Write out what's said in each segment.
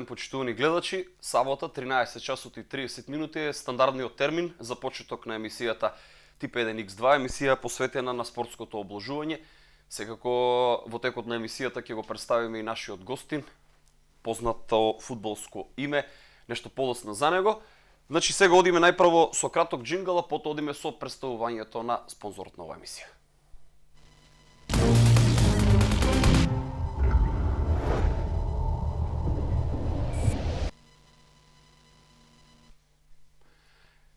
ден, почитувани гледачи. Сабота, 13 часот и 30 минути е стандардниот термин за почеток на емисијата Тип 1X2, емисија посветена на спортското обложување. Секако во текот на емисијата ќе го представиме и нашиот гостин, познато фудбалско име, нешто подоцна за него. Значи сега одиме најпрво со краток джингл, а потоа одиме со представувањето на спонзорот на оваа емисија.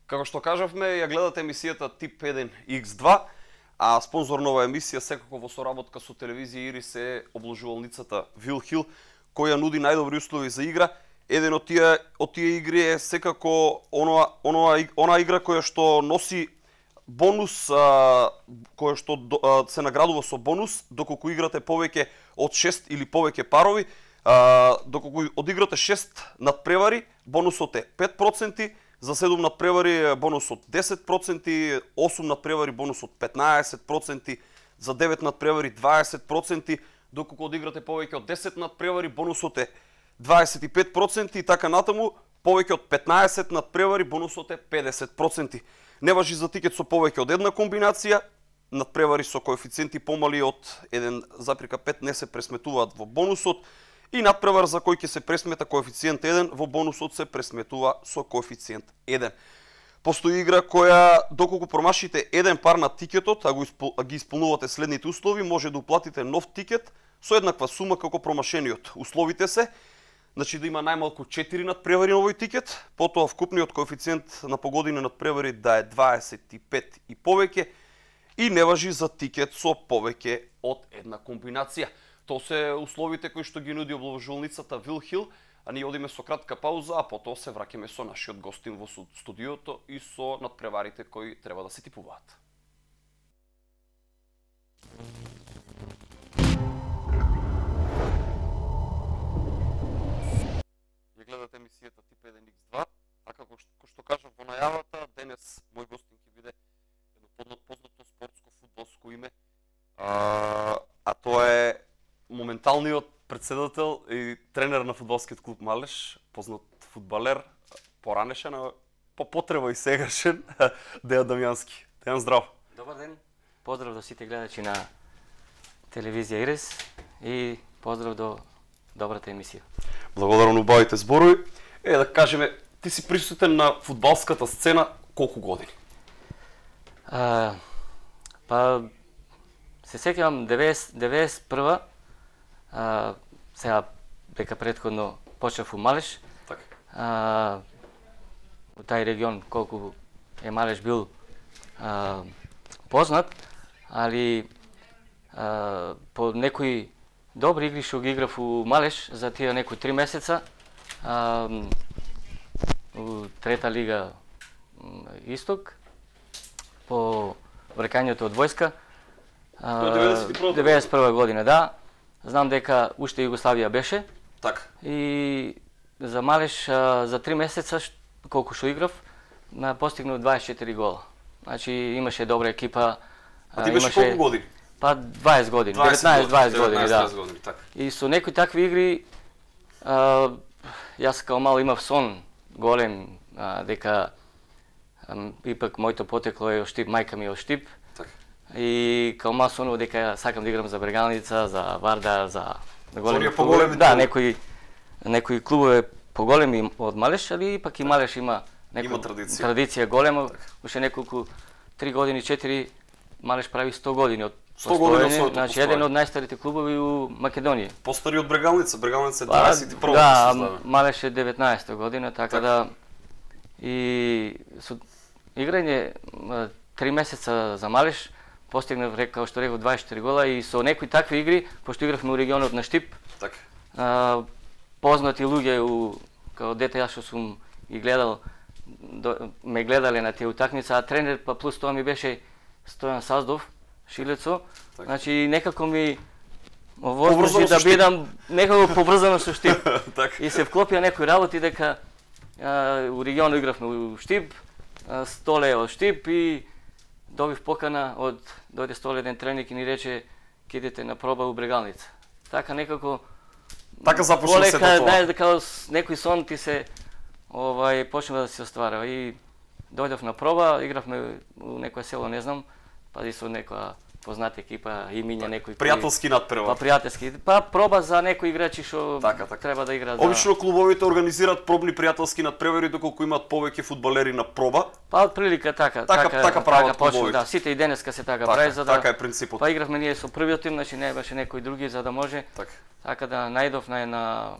Како што кажавме, ја гледате емисијата Тип 1X2, а спонзор на оваа емисија секако во соработка со телевизија Ирис е обложувалницата Вилхил, која нуди најдобри услови за игра. Еден од тие игри е секако она игра која што носи бонус, која што се наградува со бонус, доколку играте повеќе од 6 или повеќе парови, доколку одиграте 6 надпревари, бонусот е 5%, за 7 надпревари бонусот 10%, 8 надпревари бонусот 15%, за 9 надпревари 20%, доколку одиграте повеќе од 10 надпревари бонусот е 25% и така натаму, повеќе од 15 надпревари бонусот е 50%. Не важи за тикет со повеќе од една комбинација, надпревари со коефициенти помали од 1,5 не се пресметуваат во бонусот, и надпревар за кој ќе се пресмета коефициент 1 во бонусот се пресметува со коефициент 1. Постои игра која доколку промашите еден пар на тикетот, а ги исполнувате следните услови, може да уплатите нов тикет со еднаква сума како промашениот. Условите се, значи да има најмалку 4 надпревари на овој тикет, потоа вкупниот коефициент на погодини надпревари да е 25 и повеќе и не важи за тикет со повеќе од една комбинација. Тоа се условите кои што ги нуди обложувалницата Вилхил, а ние одиме со кратка пауза, а потоа се враќаме со нашиот гостин во студиото и со надпреварите кои треба да се типуваат. Ја гледате емисијата Тип 1X2, а како што кажав во најавата, денес мој гостин ќе биде едно познато спортско фудбалско име, а тоа е моменталниот председател и тренер на фудбалскиот клуб Малеш, познат фудбалер, поранешен, а по потреба и сегашен, Дејан Дамјански. Дејан, здраво. Добар ден. Поздрав до сите гледачи на телевизија Ирис и поздрав до добрата емисија. Благодарам на убавите зборови. Да кажеме, ти си присутен на фудбалската сцена колку години? Па се сеќавам 91-а, сега дека претходно почнав у Малеш. Така. У тај регион колку е Малеш бил познат, али по некои добри игри што ги играв у Малеш за тие некои 3 месеца у трета лига Исток по врекањето од војска. 91 година, да. Знам дека уште Југославија беше. Така. И за Малеш за 3 месеца колку што играв, постигнав 24 гола. Значи имаше добра екипа. А ти беше колку години? Па 20 години, 19-20 години, да. Години, така. И со некои такви игри јас као мал имав сон голем дека ипак моето потекло е од Штип, мајка ми е од Штип. И као мал сонува дека сакам да играм за Брегалница, за Вардар, за големи клубови. Да, некои клубови поголеми од Малеш, али пак и Малеш има традиција голема. Уште неколку 3 години, 4 Малеш прави 100 години од 100 години, значи еден од најстарите клубови у Македонија. Постари од Брегалница, Брегалница е 21 Да, Малеш е 19 година, така да и со играње 3 месеца за Малеш постигнав, како што реков, 24 гола и со некои такви игри, пошто игравме у регионот на Штип. Така. Познати луѓе као дете јас што сум ги гледал, ме гледале на тие утакмица, а тренер па плюс тоа ми беше Стојан Саздов, Шилецо. Значи некако ми возможи да бидам некако поврзано со Штип. И се вклопија некои работи дека у регионот игравме у Штип, Столе од Штип и добив покана од дојде Столе еден тренер и ни рече ќе идете на проба у Брегалница. Така некако Така започна сето полека, тоа. знаеш дека некој сон ти се почнува да се остварува и дојдов на проба, игравме у некое село, не знам, па и со некоја позната екипа, имиња некој Пријателски надпревар. Па пријателски. Па проба за некои играчи што треба да играат. Обично клубовите организираат пробни пријателски надпревари доколку имаат повеќе фудбалери на проба. Па отприлика така прават почна, клубовите. да, сите и денеска се така прави за да. Така е принципот. Па игравме ние со првиот тим, значи не беше некој други за да може. Така да најдов на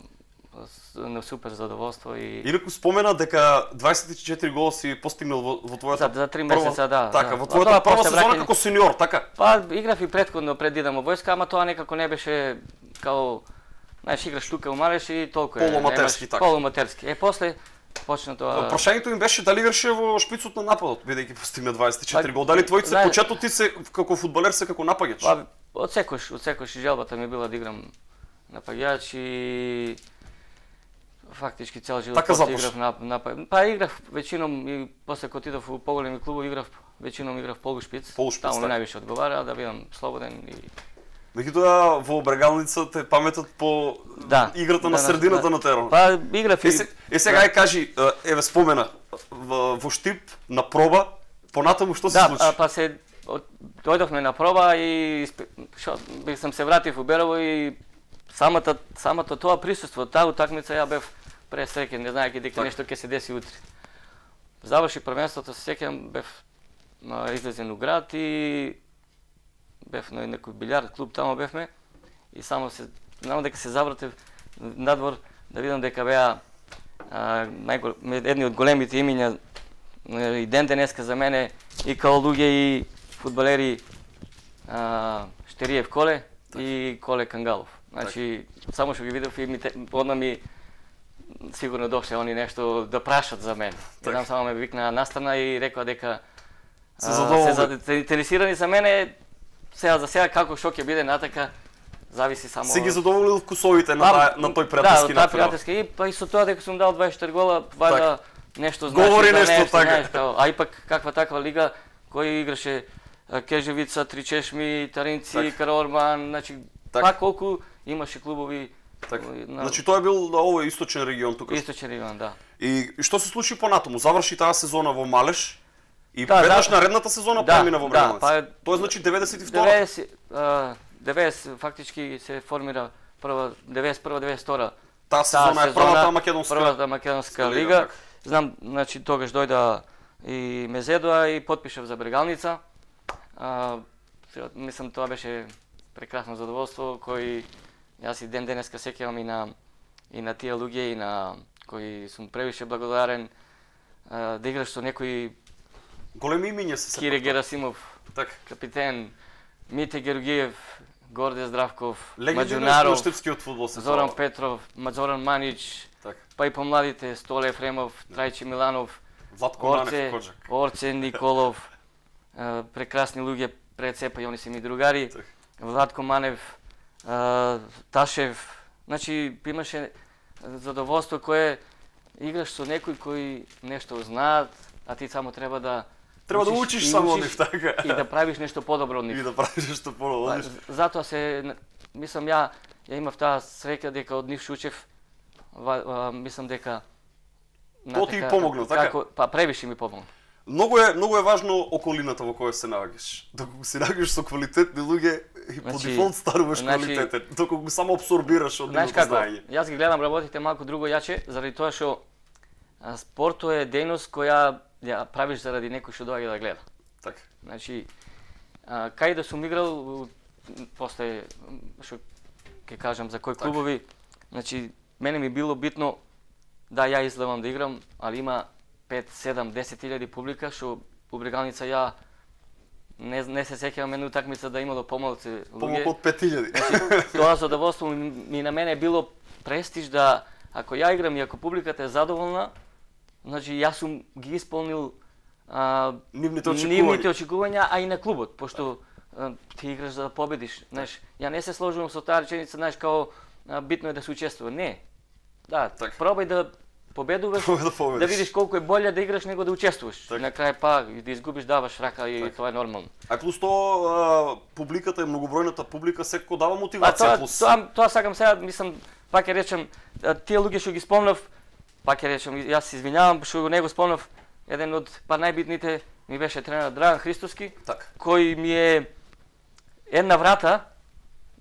супер задоволство и Инаку спомена дека 24 гола си постигнал во твојата за 3 месеца, да. Така, во твојата прва сезона како сениор, така? Па играв и претходно пред да идам во војска, ама тоа некако не беше као знаеш играш тука умалеш и толку е. Полуаматерски така. Полуаматерски. После почна тоа. Прашањето им беше дали играше во шпицот на нападот, бидејќи постигна 24 гола. Дали твоите почетот ти се како фудбалер се како напаѓач? Па од секојаш желбата ми била да играм напаѓач и фактички цел живот играв напаѓач. Па играв веćinom и после кога отидов у поголеми клубови играв веćinom играв полушпиц. Таму ми највише одговара да бидам слободен и Меѓутоа во Брегалница те паметат по играта на средината на теронот. Па играв и сега кажи, еве спомена во Штип на проба, понатаму што се случи? Да, па се дојдовме на проба и сам се вратив у Берово и самото тоа присуство, таа утакмица ја бев пресреќен, не знаејќи дека нешто ќе се деси утре. Заврши првенството, се сеќавам, бев излезен у град и бев на некој билјард клуб, таму бевме и само се знам дека се завратив надвор да видам дека беа едни од големите имиња и ден денеска за мене и као луѓе и фудбалери Штериев Коле и Коле Кангалов. Значи само што ги видов и одма ми сигурно дошле они нешто да прашат за мене. Еднам само ме викна настрана и рекоа дека се интересирани за мене. Сега за сега како што ќе биде натака зависи само. Се ги задоволил вкусовите на тој пријателски напред. Да, пријателски и па и со тоа дека сум дал 24 гола, вајда нешто значи. Говори нешто така. А и пак каква таква лига кој играше Кежевица, Тричешми, Таринци, Караорман, значи па колку имаше клубови. Значи тоа бил овој источен регион тука. Источен регион, да. И што се случи понатаму? Заврши таа сезона во Малеш. И веднаш наредната сезона премина во Брегалница. Тоа значи 92. 90 фактички се формира прва 91-92. Таа сезона е првата македонска лига. Знам, значи тогаш дојда и Мезедоа и потпишав за Брегалница. Мислам тоа беше прекрасно задоволство кој јас и ден денеска сеќавам и на тие луѓе и на кои сум превише благодарен да играш со некои големи имиња се Кире Герасимов, капитен, Мите Георгиев, Горде Здравков, Маđунаров, Зоран Петров, Зоран Манич, па и помладите Столе Ефремов, Трајчи Миланов, Орце Николов, прекрасни луѓе пред сепа и они се ми другари, Владко Манев, Ташев, значи имаше задоволство кое играш со некои кои нешто знаат, а ти само треба да учиш само од нив, така. И да правиш нешто подобро од нив. И да правиш нешто подобро од нив. Затоа мислам ја имав таа среќа дека од нив шучев, мислам дека тоа ти помогна, така? Па превише ми помогна. Многу е важно околината во која се наоѓаш. Доколку се наоѓаш со квалитетни луѓе и по дефолт стануваш квалитетен. Доколку само абсорбираш од нивното знаење. Јас ги гледам работите малку друго јаче, заради тоа што спортот е дејност која ја правиш заради некој што доаѓа да гледа. Така. Значи, кај да сум играл, после што ќе кажам за кои клубови, значи мене ми било битно да ја излевам да играм, али има 5, 7, 10 илјади публика што у Брегалница ја не се сеќавам една утакмица да имало помалку луѓе. Помалку од 5000. Значи, тоа задоволство ми на мене било престиж да ако ја играм и ако публиката е задоволна, значи јас сум ги исполнил нивните очекувања, а и на клубот, пошто ти играш за да победиш, знаеш. Ја не се сложувам со таа реченица, знаеш, као битно е да се учествува. Не. Да, пробај да победуваш, да видиш колку е боле да играш него да учествуваш. На крај па да изгубиш даваш рака и тоа е нормално. А плюс тоа публиката и многобројната публика секако дава мотивација плюс. Тоа сакам сега, мислам пак ќе речем, тие луѓе што ги спомнав, пак ќе речем, јас се извинјавам што не го спомнав, еден од најбитните ми беше тренер Драган Христоски, кој ми е една врата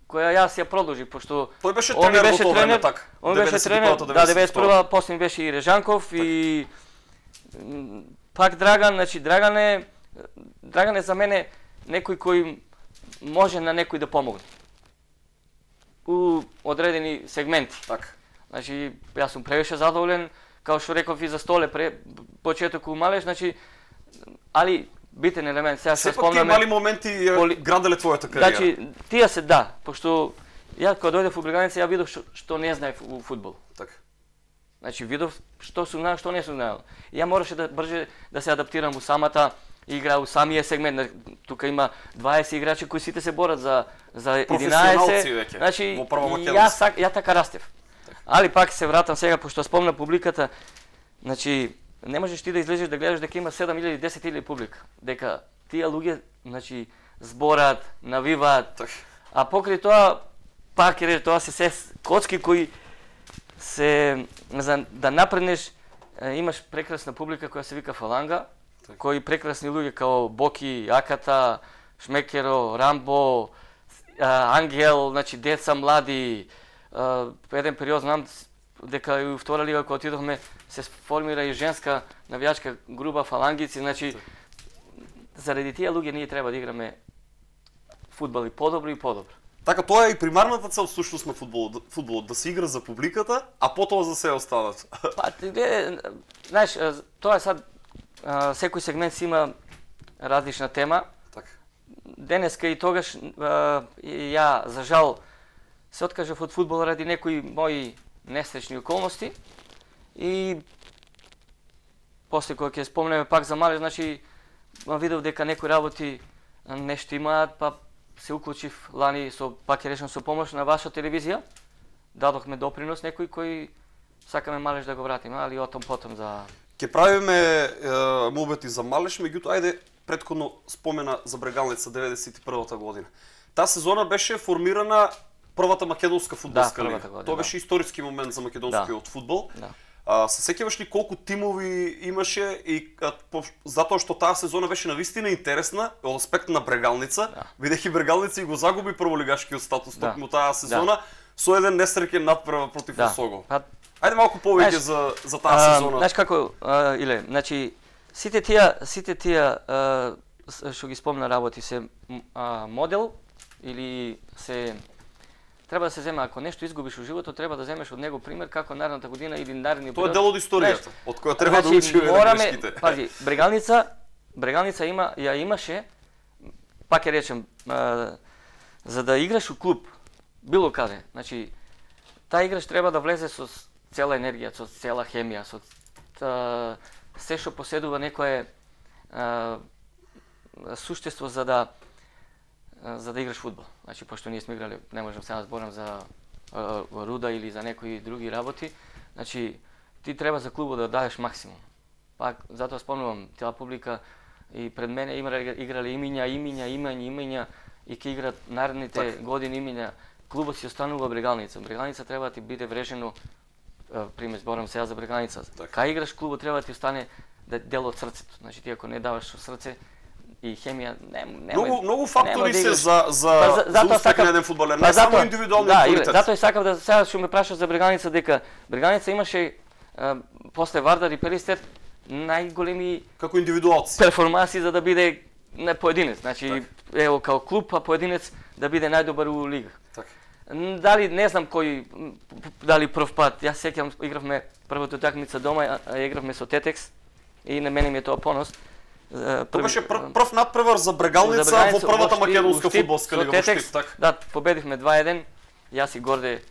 која јас ја продолжив, пошто тој беше тренер во тоа време, така. Он беше тренер, да, 91-а, после ми беше и Режанков и пак Драган, значи Драган е за мене некој кој може на некој да помогне у одредени сегменти. Така. Значи јас сум превише задоволен, као што реков и за Столе почеток у Малеш, значи али битен елемент сега што спомнаме. Сепак тие мали моменти граделе твојата кариера. Значи тие се да, пошто ја кога дојдев у Брегалница ја видов што не знаев у фудбал. Така. Значи видов што сум знаел, што не сум знаел. Ја мораше да брже да се адаптирам у самата игра, у самиот сегмент. Тука има 20 играчи кои сите се борат за 11. Значи ја така растев. Али пак се вратам сега пошто спомна публиката. Значи не можеш ти да излезеш да гледаш дека има 7 или 10 или публика. Дека тие луѓе, значи, зборат, навиваат. А покрај тоа, пак е тоа се коцки кои се за да напреднеш, имаш прекрасна публика која се вика Фаланга, кои прекрасни луѓе као Боки, Аката, Шмекеро, Рамбо, Ангел, значи деца млади. Еден период знам дека и у втора лига кога отидовме се формира и женска навијачка група фалангици, значи заради тие луѓе ние треба да играме фудбал и подобро и подобро. Така, тоа е и примарната цел всушност на фудбалот, да се игра за публиката, а потоа за се останат. Па, знаеш, тоа е сад, секој сегмент си има различна тема. Така. Денеска и тогаш ја, за жал, се откажав од фудбал ради некои мои несречни околности и после кога ќе спомнеме пак за Малеш, значи видов дека некои работи нешто имаат, па се уклучив лани пак ќе речем со помош на ваша телевизија, дадохме допринос некој кој сакаме Малеш да го вратиме, али о том потом за... Ќе правиме молбети за Малеш, меѓутоа ајде претходно спомена за Брегалница 91-та година. Таа сезона беше формирана првата македонска фудбалска лига. Тоа беше историски момент за македонскиот фудбал. Се сеќаваш ли колку тимови имаше и затоа што таа сезона беше навистина интересна од аспект на Брегалница, бидејќи Брегалница и го загуби прволигашкиот статус токму таа сезона со еден несреќен надпревар против Осого. Ајде малку повеќе за таа сезона. Знаеш како, Иле, значи сите тие што ги спомна работи се модел или се треба да се земе, ако нешто изгубиш во животот, треба да земеш од него пример како наредната година или наредни период. Тоа е дел од историјата, од која треба да учиме грешките. Пази, Брегалница имаше, пак ќе речем, за да играш у клуб, било каде, значи, таа играч треба да влезе со цела енергија, со цела хемија, со се што поседува некое суштество за да играш фудбал. Значи, пошто ние сме играли, не можам сега да зборам за Руда или за некои други работи, значи, ти треба за клубот да дадеш максимум. Пак, затоа спомнувам, таа публика и пред мене играли имиња и ќе играат наредните години имиња. Клубот си останува Брегалница. Брегалница треба да ти биде врежено, пример, зборам сега за Брегалница. Кај играш клубот треба да ти остане дел од срцето. Значи, ти ако не даваш со срце, и хемија многу фактори се за успех на еден фудбалер, не само индивидуални квалитет. Затоа сакав сега што ме прашаш за Брегалница, дека Брегалница имаше после Вардар и Перистер најголеми како индивидуалци перформанси за да биде не поединец, значи ево као клуб, а поединец да биде најдобар у лига. Дали не знам кој, дали прв пат, јас сеќавам игравме првата утакмица дома, игравме со Тетекс и на мене ми е тоа понос. Тоа беше прв надпревар за Брегалница во првата македонска фудбалска лига во Штип, така. Да, победивме 2-1. Јас и Горде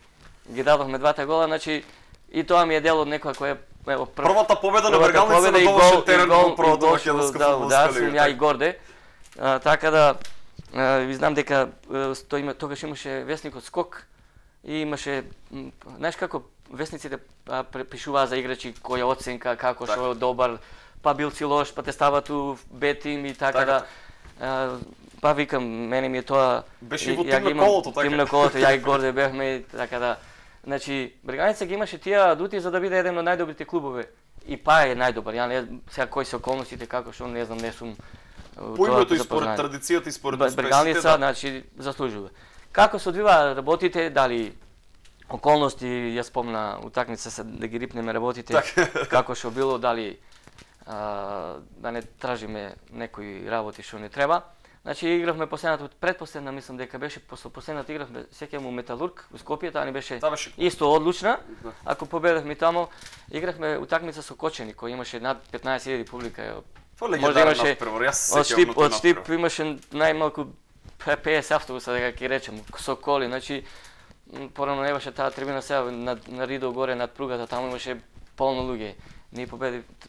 ги дадовме двата гола, значи и тоа ми е дел од некоја која ево првата победа на Брегалница на домашен терен во првата македонска фудбалска лига. Да, ја и Горде. Така да ви знам дека тогаш имаше весникот Скок и имаше, знаеш како весниците пишуваа за играчи која оценка, како што е добар, па бил си лош, па те стават у бетим и така да. Па викам, мене ми е тоа... Беше и во тим на колото, така? Тим на колото, ја и Горде бевме, така да... Значи, Бреганица ги имаше тие адути за да биде еден од најдобрите клубови. И па е најдобар. Ја не сега кои се околностите како што не знам, не сум по името и според традицијата и според успесите. Бреганица, значи заслужува. Како се одвива работите, дали околности, ја спомна утакмица се да ги рипнеме работите, како што било, дали да не тражиме некои работи што не треба. Значи игравме последната, предпоследна мислам дека беше, после последната игравме сеќавам Металург во Скопје, таа не беше исто одлучна. Ако победевме тамо, игравме утакмица со Кочени, кој имаше над 15.000 публика. Може имаше од Штип имаше најмалку 50 автобуса, дека ќе речем, со коли, значи порано не беше таа трибина сега на Ридо горе над пругата, таму имаше полно луѓе. Ние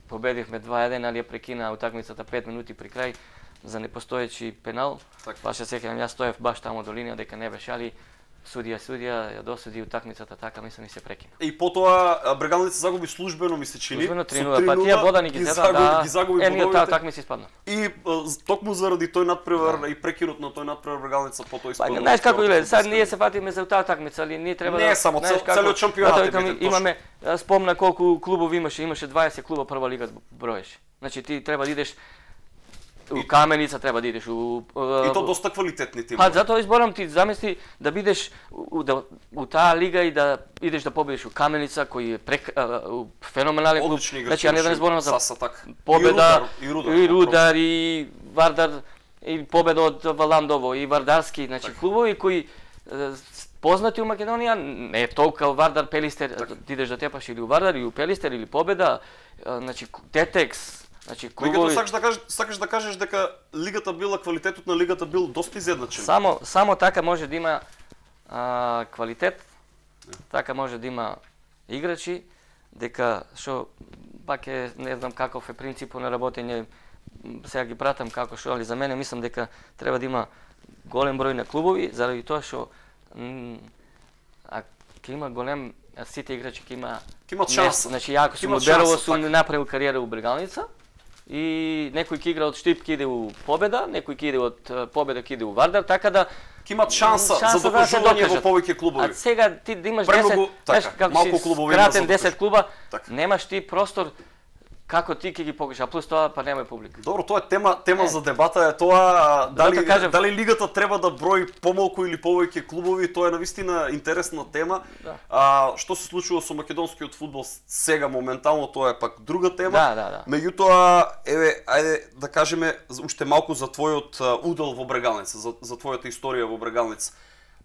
победивме 2-1, али ја прекина утакмицата 5 минути при крај за непостоечи пенал. Баш се сеќавам, јас стоев баш таму до линија дека не беше, али судија ја досуди утакмицата, така мислам и се прекина. И потоа Брегалница загуби службено, ми се чини. Службено 3:0, па тие бодани ги зеда, да. Ги загуби ние таа утакмица испадна. И токму заради тој надпревар и прекинот на тој надпревар Брегалница потоа испадна. Знаеш како иле, сега ние се фатиме за таа утакмица, али ние треба не само целиот шампионат. Имаме спомна колку клубови имаше 20 клуба прва лига броеше. Значи ти треба да идеш у Каменица, треба да идеш и то доста квалитетни тимови. Па затоа изборам ти замисли да бидеш у таа лига и да идеш да победиш у Каменица кој е феноменален клуб. Значи ја не да не зборам за Победа и Рудар и Вардар и Победа од Валандово и Вардарски, значи клубови кои познати у Македонија, не е толку Вардар, Пелистер, ти идеш да тепаш или у Вардар или у Пелистер или Победа, значи Тетекс. Значи клубови... сакаш да кажеш дека лигата била, квалитетот на лигата бил доста изедначен. Само така може да има квалитет, така може да има играчи, дека што пак е, не знам каков е принципот на работење, сега ги пратам како што, али за мене мислам дека треба да има голем број на клубови, заради тоа што ќе има голем, сите играчи ќе имаат шанса. Значи ја ако сум од Берово сум направил кариера у Брегалница, и некој ќе игра од Штип ќе иде у Победа, некој ќе иде од Победа ќе иде у Вардар, така да ќе имат шанса за докажување во повеќе клубови. А сега ти да имаш 10, знаеш како си кратен 10 клуба, немаш ти простор како ти ќе ги покажеш, а плюс тоа па нема публика. Добро, тоа е тема за дебата, е тоа дали лигата треба да брои помалку или повеќе клубови, тоа е навистина интересна тема. Што се случува со македонскиот фудбал сега моментално, тоа е пак друга тема. Да. Меѓутоа, ајде да кажеме уште малку за твојот удел во Брегалница, за твојата историја во Брегалница.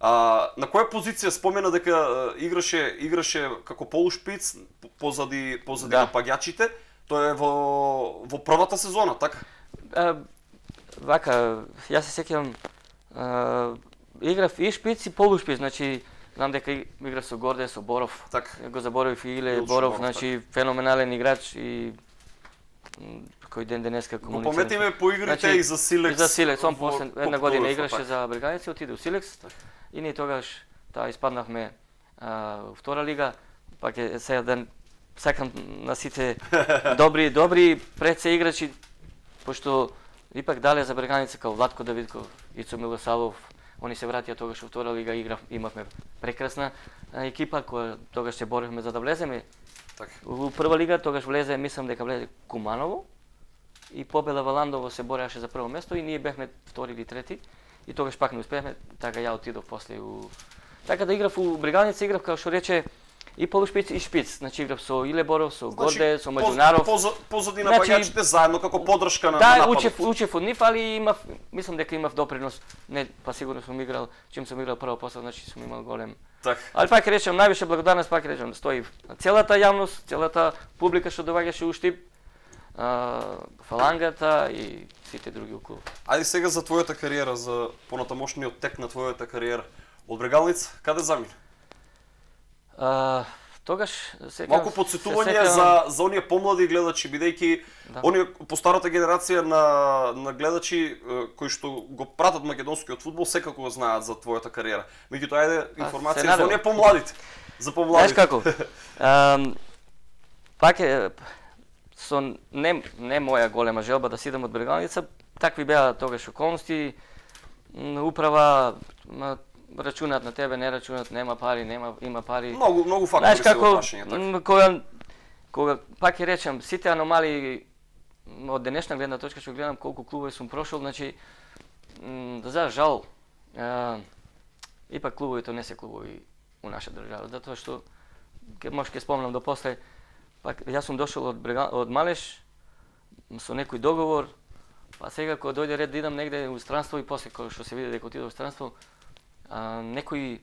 На која позиција спомена дека играше како полушпиц позади напаѓачите? Тоа е во првата сезона, така? Вака, јас се сеќавам, играв и шпиц и полушпиц, значи знам дека играв со Горде, со Боров, го заборавив и Иле Боров, значи феноменален играч и кој ден денеска комуницира. Го пометиме по игрите и за Силекс. И за Силекс, он после една година играше за Бреганица, отиде у Силекс и ние тогаш испаднавме во втора лига, пак е сега да сакам на сите добри пред се играчи, пошто ипак дале за Бреганица као Владко Давидков, Ицо Милосавов, они се вратија тогаш во втора лига, имавме прекрасна екипа која тогаш се боривме за да влеземе. Во прва лига тогаш влезе, мислам дека влезе Куманово и Победа Валандово се бореше за прво место и ние бевме втори или трети и тогаш пак не успеавме, така ја отидов после така да играв у Бреганица, играв како што рече и полушпиц и шпиц, значи играв со Иле Боров, со Горде, со Маđунаров. Позади напаѓачите заедно како подршка на нападот. Да, учев од нив, али мислам дека имав допринос. Не, па сигурно сум играл, чим сум играл прво посла, значи сум имал голем. Али пак речем, највише благодарност пак речем, стои целата јавност, целата публика што доаѓаше у Штип, фалангата и сите други околу. Ајде сега за твојата кариера, за понатамошниот тек на твојата кариера. Од Брегалница, каде замина? Тогаш малку подсетување за оние помлади гледачи, бидејќи оние по старата генерација на гледачи кои што го пратат македонскиот фудбал секако го знаат за твојата кариера. Меѓутоа ајде информација за оние помладите. За помладите. Знаеш како? Пак е со не моја голема желба да си идам од Брегалница, такви беа тогаш околности, управа рачунат на тебе, не рачунат, нема пари, има пари. Многу фактори се во прашање, така. Кога пак ќе речем, сите аномалии од денешна гледна точка што гледам колку клубови сум прошол, значи за жал ипак клубовите не се клубови у наша држава, затоа што може ќе спомнам до после, пак јас сум дошол од Малеш со некој договор, па сега кога дојде ред да идам негде у странство и после кога што се види дека отидов у странство, некои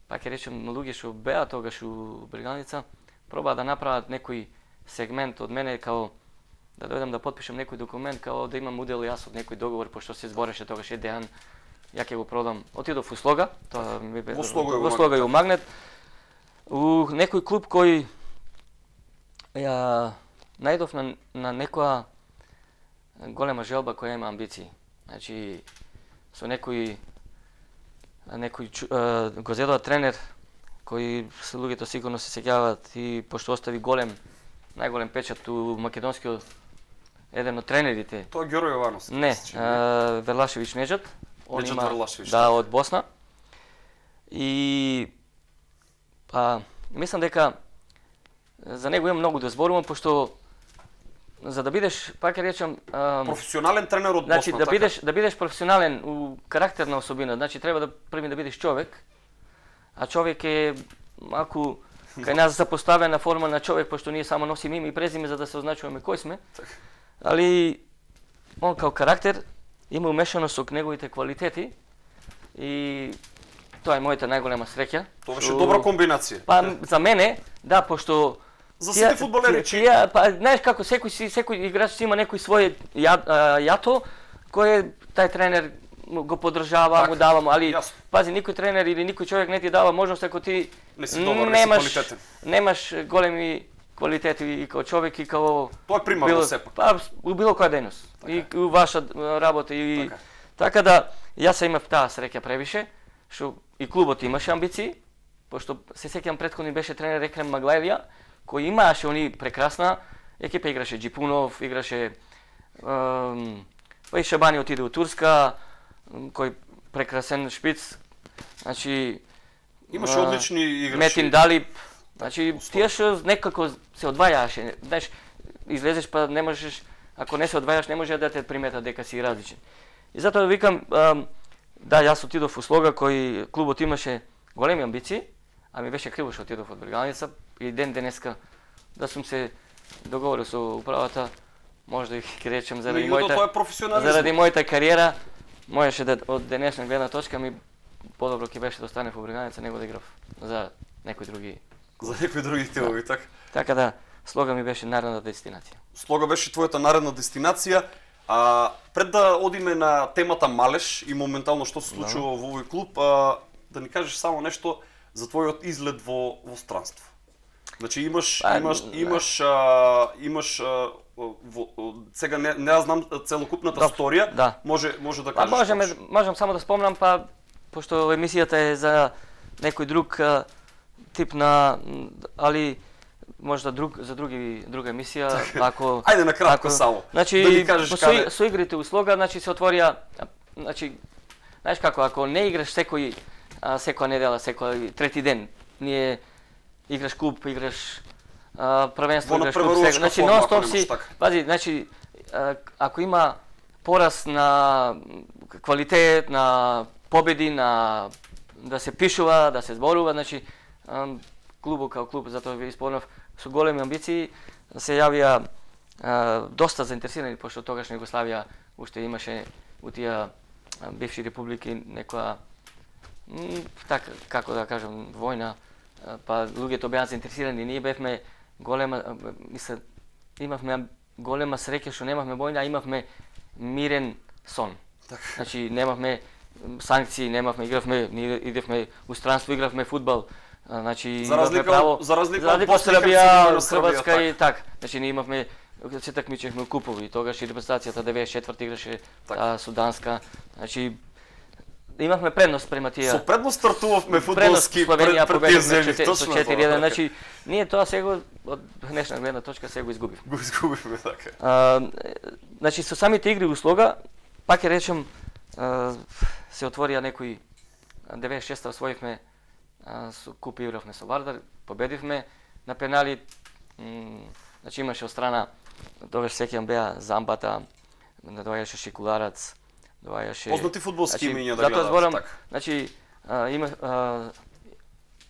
пак ќе речем луѓе што беа тогаш у Брегалница пробаа да направат некој сегмент од мене као да дојдам да потпишам некој документ као да имам удел јас од некој договор пошто се збореше тогаш Дејан, ја ќе го продам. Отидов у Слога, тоа ми бе во Слога и у Магнет. У некој клуб кој ја најдов на некоја голема желба која има амбиции. Значи со некој го зедоа тренер кој се луѓето сигурно се сеќаваат и пошто остави најголем печат у македонскиот еден од тренерите. Тоа е Ѓоро Јовановски. Не, Верлашевиќ Неџат. Неџат Верлашевиќ. Да, од Босна. И мислам дека за него има многу да зборувам пошто за да бидеш, пак ќе речам, професионален тренер од Босна, значи да бидеш професионален у карактерна особина, значи треба да први да бидеш човек, а човек е малку кај нас запоставена форма на човек, пошто ние само носиме име и презиме за да се означуваме кој сме. Али он као карактер има умешано со неговите квалитети и тоа е мојата најголема среќа. Тоа беше добра комбинација. Па за мене, да, пошто за сите фудбалери, па знаеш како секој играч си има некој свој јато кој тај тренер го поддржава, му дава, али пази никој тренер или никој човек не ти дава можност ако ти немаш големи квалитети и као човек и као тоа е примарно сепак. Па у било која дејност. И у ваша работа и така да јас имав таа среќа превише што и клубот имаше амбиции, пошто се сеќавам претходни беше тренер Екрем Маглајлија кој имаше они прекрасна екипа, играше Джипунов, играше па и Шабани отиде у Турска, кој прекрасен шпиц, значи имаше одлични играчи. Метин Далип, значи тие што некако се одвајаше, знаеш, излезеш па не можеш, ако не се одвајаш не може да те приметат дека си различен. И затоа викам, да, јас отидов у Слога кој клубот имаше големи амбиции, а ми беше криво што отидов од Брегалница и ден денеска да сум се договорил со управата, може да ќе речем заради мојата кариера, можеше да од денешна гледна точка ми подобро ќе беше да останев во Брегалница него да играв за некои други тимови, така. Така да, Слога ми беше наредна дестинација. Слога беше твојата наредна дестинација. Пред да одиме на темата Малеш и моментално што се случува во овој клуб, да ни кажеш само нешто за твојот излет во странство. Значи имаш сега не знам целокупната сторија, може да кажеш. Можам само да спомнам, па пошто емисијата е за некој друг тип на, али можда за друга емисија, ако ајде на кратко само. Значи да со игрите у Слога, значи се отворија, значи знаеш како, ако не играш секоја недела, секој трети ден, ние играш клуб, играш првенство, играш клуб, значи нон-стоп си, пази, значи ако има порас на квалитет, на победи, на да се пишува, да се зборува, значи клубот као клуб, затоа ви исполнав со големи амбиции, се јавија доста заинтересирани, пошто тогаш Југославија уште имаше у тие бивши републики некоја така како да кажам војна, па луѓето беа заинтересирани, ние бевме имавме голема среќа што немавме војна, а имавме мирен сон. Значи немавме санкции, ние идевме у странство, игравме фудбал. Значи имавме право за разлика од Србија, Хрватска и така. Значи ние имавме се такмичевме купови, тогаш и репрезентацијата 94 играше со Данска. Значи имавме предност према тие. Со предност стартувавме фудбалски пред тие земји, точно. 4-1, значи ние тоа сега од днешна гледна точка сега го изгубивме. Го изгубивме така. Значи со самите игри у Слога, пак ќе речем, се отворија некои 96-та освоивме куп, игравме со Вардар, победивме на пенали. Значи имаше од страна, тогаш сеќавам беа Замбата, доаѓаше Шикуларац, доаѓаше Познати фудбалски имиња да затоа зборам, така. значи има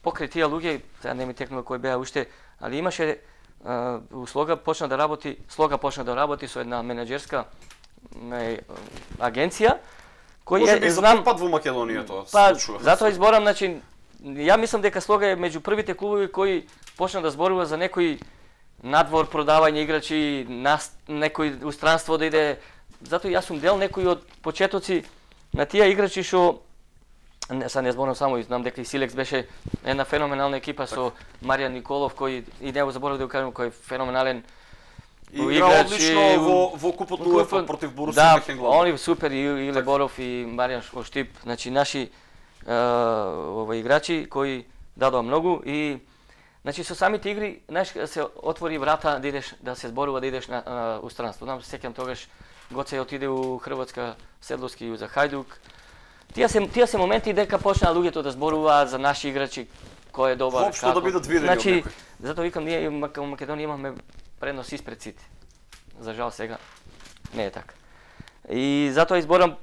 покрај тие луѓе, сега не ми текнува кои беа уште, али имаше Слога почна да работи со една менаџерска агенција кој Може би за знам пат во Македонија тоа па, се случува. затоа изборам, значи ја мислам дека Слога е меѓу првите клубови кои почна да зборува за некои надвор продавање играчи, некој устранство да иде. Затоа јас сум дел некои од почетоци на тие играчи што сега не зборам само, знам дека и Силекс беше една феноменална екипа со Маријан Николов, кој и него заборав да го кажам, кој е феноменален игра одлично во купот на УЕФА против Борусија Мехенглад. Да, они супер, и Иле Боров и Маријан Штип, значи наши играчи кои дадоа многу и значи со самите игри знаеш се отвори врата да идеш да се зборува да идеш на устранство. Знам се сеќам тогаш Гоце отиде у Хрватска, Седловски за Хајдук. Тие се моменти дека почнаа луѓето да зборуваат за наши играчи, кој е добар, Воопшто да бидат видени од значи, некој. затоа викам ние во Македонија имаме предност испред сите. За жал сега не е така. И затоа изборам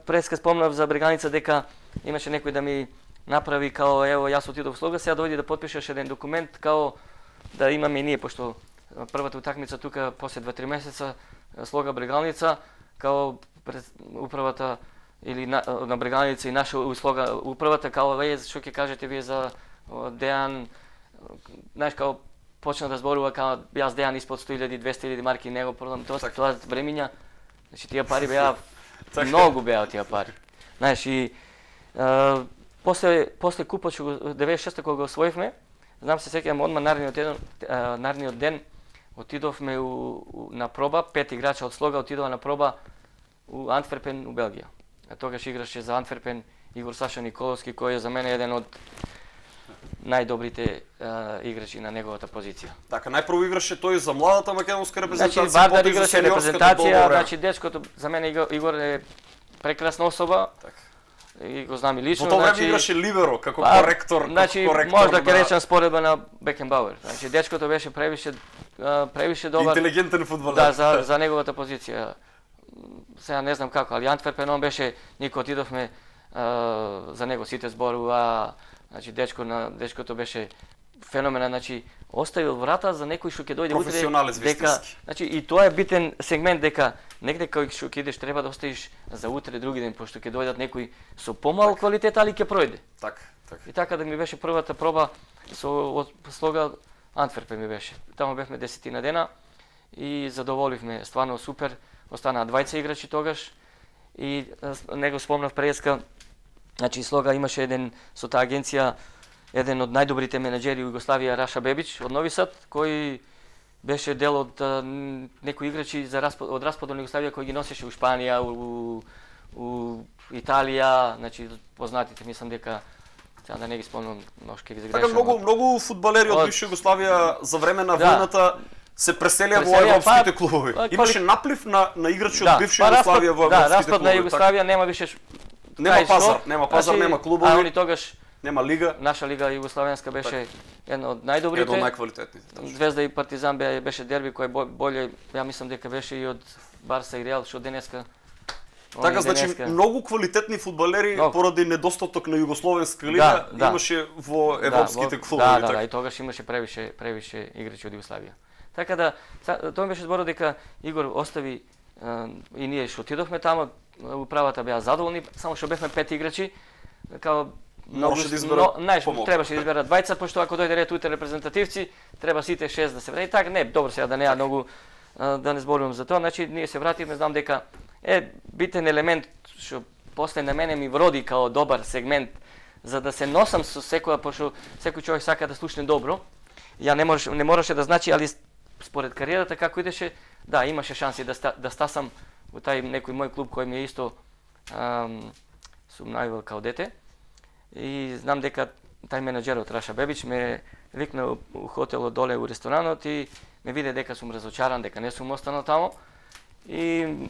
преска спомнав за Бреганица дека имаше некој да ми направи као ево јас отидов Слога, сега дојди да потпишеш еден документ као да имаме и ние, пошто првата утакмица тука после 2-3 месеца Слога Брегалница као управата или на Брегалница и наша Слога управата као што ќе кажете вие за Дејан, знаеш као почна да зборува као јас Дејан испод 100.000, 200.000 марки него продам тоа времиња. Значи тие пари беа многу беа тие пари. Знаеш и после купот што 96-та кога го освоивме, знам се сеќавам одма наредниот ден отидовме на проба, 5 играча од Слога отидоа на проба у Антверпен, у Белгија. Тогаш играше за Антверпен Игор Саша Николовски, кој е за мене еден од најдобрите играчи на неговата позиција. Така, најпрво играше тој за младата македонска репрезентација, значи, Вардар потоа играше репрезентација, значи дечкото за мене Игор е прекрасна особа. Така. И го знам и лично. Во тоа време значи, играше либеро како коректор, значи, може да ќе речам споредба на Бекенбауер. Значи дечкото беше превише добар. Интелигентен фудбалер. Да, за неговата позиција. Сега не знам како, али Антверпен он беше, никој отидовме за него сите зборува. Значи дечкото беше феноменален, значи оставил врата за некој што ќе дојде утре дека, значи и тоа е битен сегмент дека негде кај што ќе идеш треба да оставиш за утре други ден, пошто ќе дојдат некои со помал квалитет, али ќе пројде. Така. И така да ми беше првата проба со Слога Антверпен ми беше. Таму бевме 10 дена и задоволивме, стварно супер. Останаа 20 играчи тогаш и него спомнав преска. Значи Слога имаше еден со таа агенција еден од најдобрите менаџери во Југославија, Раша Бебич од Нови Сад, кој беше дел од некои играчи од распадот на Југославија кој ги носеше у Шпанија, у Италија, значи познатите, мислам дека сега да не ги спомнам, може ќе ги загрешам. Така многу фудбалери од бивша Југославија за време на војната се преселија во европските клубови. Имаше наплив на играчи од бивша Југославија во европските клубови. Да, распад на Југославија нема више. Нема пазар, нема клубови. А они тогаш нема лига. Наша лига југославенска беше една од најдобрите. Една од најквалитетните. Звезда и Партизан беше дерби кој боле, ја мислам дека беше и од Барса и Реал, што денеска. Така, значи многу квалитетни фудбалери поради недостаток на југословенска лига имаше во европските клубови. Да, и тогаш имаше превише играчи од Југославија. Така да, тоа беше зборот дека Игор остави и ние што отидовме таму, управата беа задоволни, само што бевме 5 играчи, као требаше да изберат 20, пошто ако дојде ред утре репрезентативци, треба сите 6 да се врати. Така не, добро сега да неа многу да не зборувам за тоа. Значи ние се вративме, знам дека битен елемент што после на мене ми вроди као добар сегмент за да се носам со секоја, пошто секој човек сака да слушне добро. Ја не мораше да значи, али според кариерата како идеше, да, имаше шанси да стасам во тај некој мој клуб кој ми е исто сум најавил као дете. И знам дека тај менаџерот Раша Бебич ме викна у хотелот доле у ресторанот и ме виде дека сум разочаран, дека не сум останал таму. И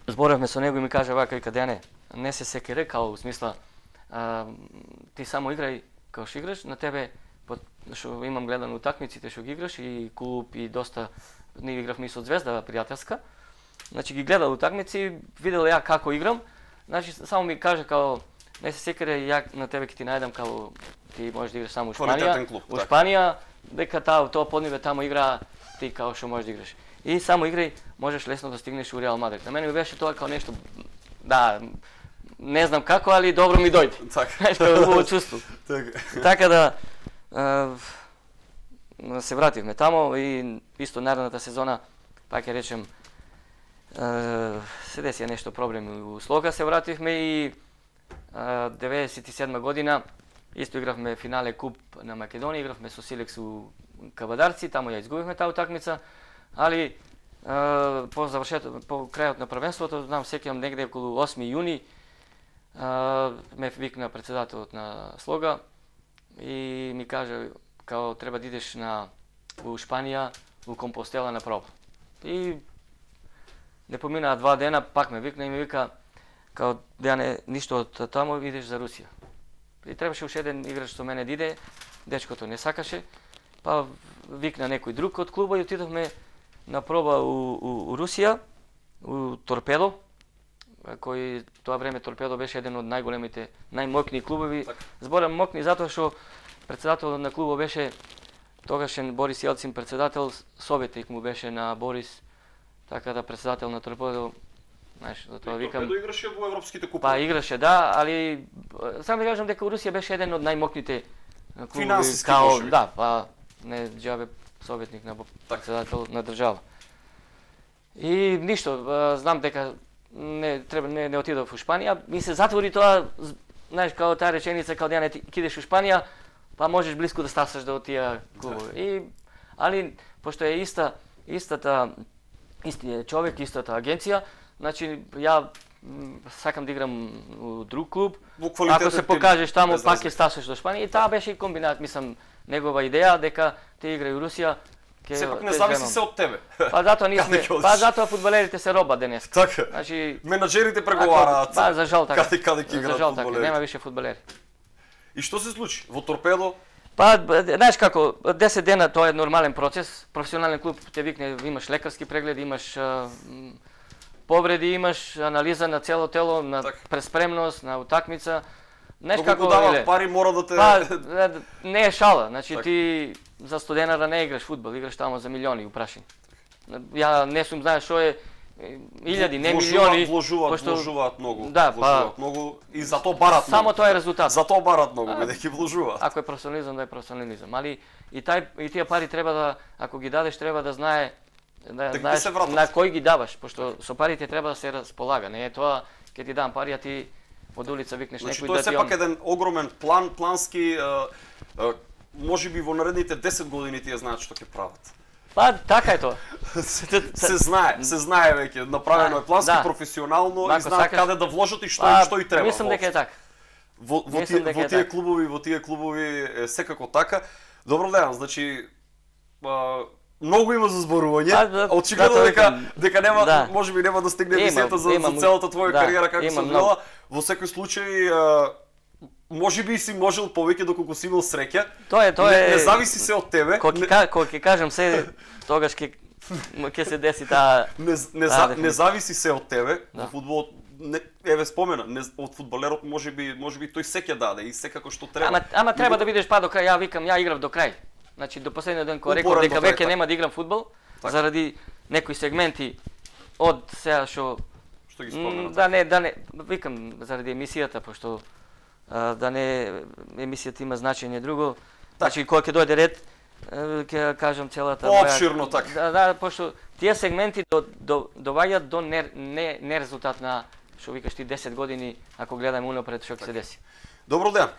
зборавме со него и ми кажа вака, вика, Дејане, не се секире, као у смисла ти само играј како што играш, на тебе што имам гледано утакмиците што ги играш и клуб и доста ние игравме и со Звезда пријателска. Значи ги гледал утакмици, видел ја како играм. Значи само ми каже као не се секаре ја на тебе ќе ти најдам као ти можеш да играш само во Шпанија. Во Шпанија дека тоа подниве тамо игра ти као што можеш да играш. И само играј, можеш лесно да стигнеш во Реал Мадрид. На мене ми беше тоа као нешто да не знам како, али добро ми дојде. Нешто убаво чувство. Така да се вративме тамо и исто наредната сезона, пак ќе речем, се десија нешто проблеми у Слога, се вративме и 97 година исто игравме финале куп на Македонија, игравме со Силекс у Кабадарци, тамо ја изгубивме таа утакмица, али по крајот на првенството, знам сеќавам негде околу 8 јуни, ме викна председателот на Слога и ми каже као треба да идеш у Шпанија, у Компостела на проба. И не поминаа 2 дена, пак ме викна и ми вика као Дејане, ништо од таму, идеш за Русија. И требаше уште еден играч со мене да иде, дечкото не сакаше, па викна некој друг од клуба и отидовме на проба у Русија, у Торпедо, кој тоа време Торпедо беше еден од најголемите, најмокни клубови. Зборам мокни затоа што председателот на клубот беше тогашен Борис Јелцин, председател, советник му беше на Борис, така да председател на Торпедо, знаеш, затоа викам. Торпедо играше во европските купови. Па играше, да, али само да кажам дека Русија беше еден од најмокните клубови. Финансиски можеби. Да, па не џабе советник на председател на држава. И ништо, знам дека не отидов во Шпанија, ми се затвори тоа, знаеш, као таа реченица, као Дејане, ти идеш во Шпанија, па можеш блиску да стасаш до тие клубови. Али пошто е истиот човек, истата агенција, значи ја сакам да играм у друг клуб. Ако се покажеш таму, пак ќе стасаш до Шпанија. И таа беше и комбинат, мислам, негова идеја дека ти играј у Русија. Сепак не зависи се од тебе. Па затоа затоа фудбалерите се роба денес. Така. Значи менаџерите преговараат. Па за жал така. Каде ќе играат фудбалери. Нема више фудбалери. И што се случи во Торпедо? Па знаеш како, 10 дена тоа е нормален процес. Професионален клуб те викне, имаш лекарски преглед, имаш повреди, имаш анализа на цело тело, на преспремност, на утакмица. Знаеш како дават пари мора да те не е шала, значи ти за студенара не играш фудбал, играш тамо за милиони упрашени. Ја не сум знаеш што е илјади, не милиони, вложуваат многу, да, вложуваат многу и затоа барат многу. Само тоа е резултат. Затоа барат многу, бидејќи вложуваат. Ако е професионализам, да е професионализам, али и тие пари треба да, ако ги дадеш, треба да знаеш на кој ги даваш, пошто со парите треба да се располага, не е тоа ќе ти дам пари, а ти од улица викнеш некој да ти Тоа е сепак еден огромен плански, можеби во наредните 10 години тие знаат што ќе прават. Па, така е тоа. се знае веќе, направено е плански, професионално и знаат каде да вложат и што и треба. Мислам дека е така. Во тие клубови е секако така. Добро ден, значи многу има за зборување. Очигледно дека нема, можеби нема да стигне емисијата за целата твоја кариера како се одвила. Во секој случај можеби си можел повеќе доколку си имал среќа. Тоа е. Не зависи се од тебе. Кога ќе кажам се, тогаш ќе се деси таа. Не зависи се од тебе. Во фудбалот еве спомена, од фудбалерот можеби тој се ќе даде и секако што треба. Ама треба да видиш па до крај. Ја викам, ја играв до крај. Значи до последниот ден кога реков дека веќе нема да играм фудбал заради некои сегменти од сега што ги спомена. Да не викам заради емисијата, пошто да не емисијата има значење друго. Значи кога ќе дојде ред ќе кажам целата поопширно така. Да, пошто тие сегменти доваѓаат до не резултат на што викаш ти 10 години ако гледаме унапред што ќе се деси. Добро ден.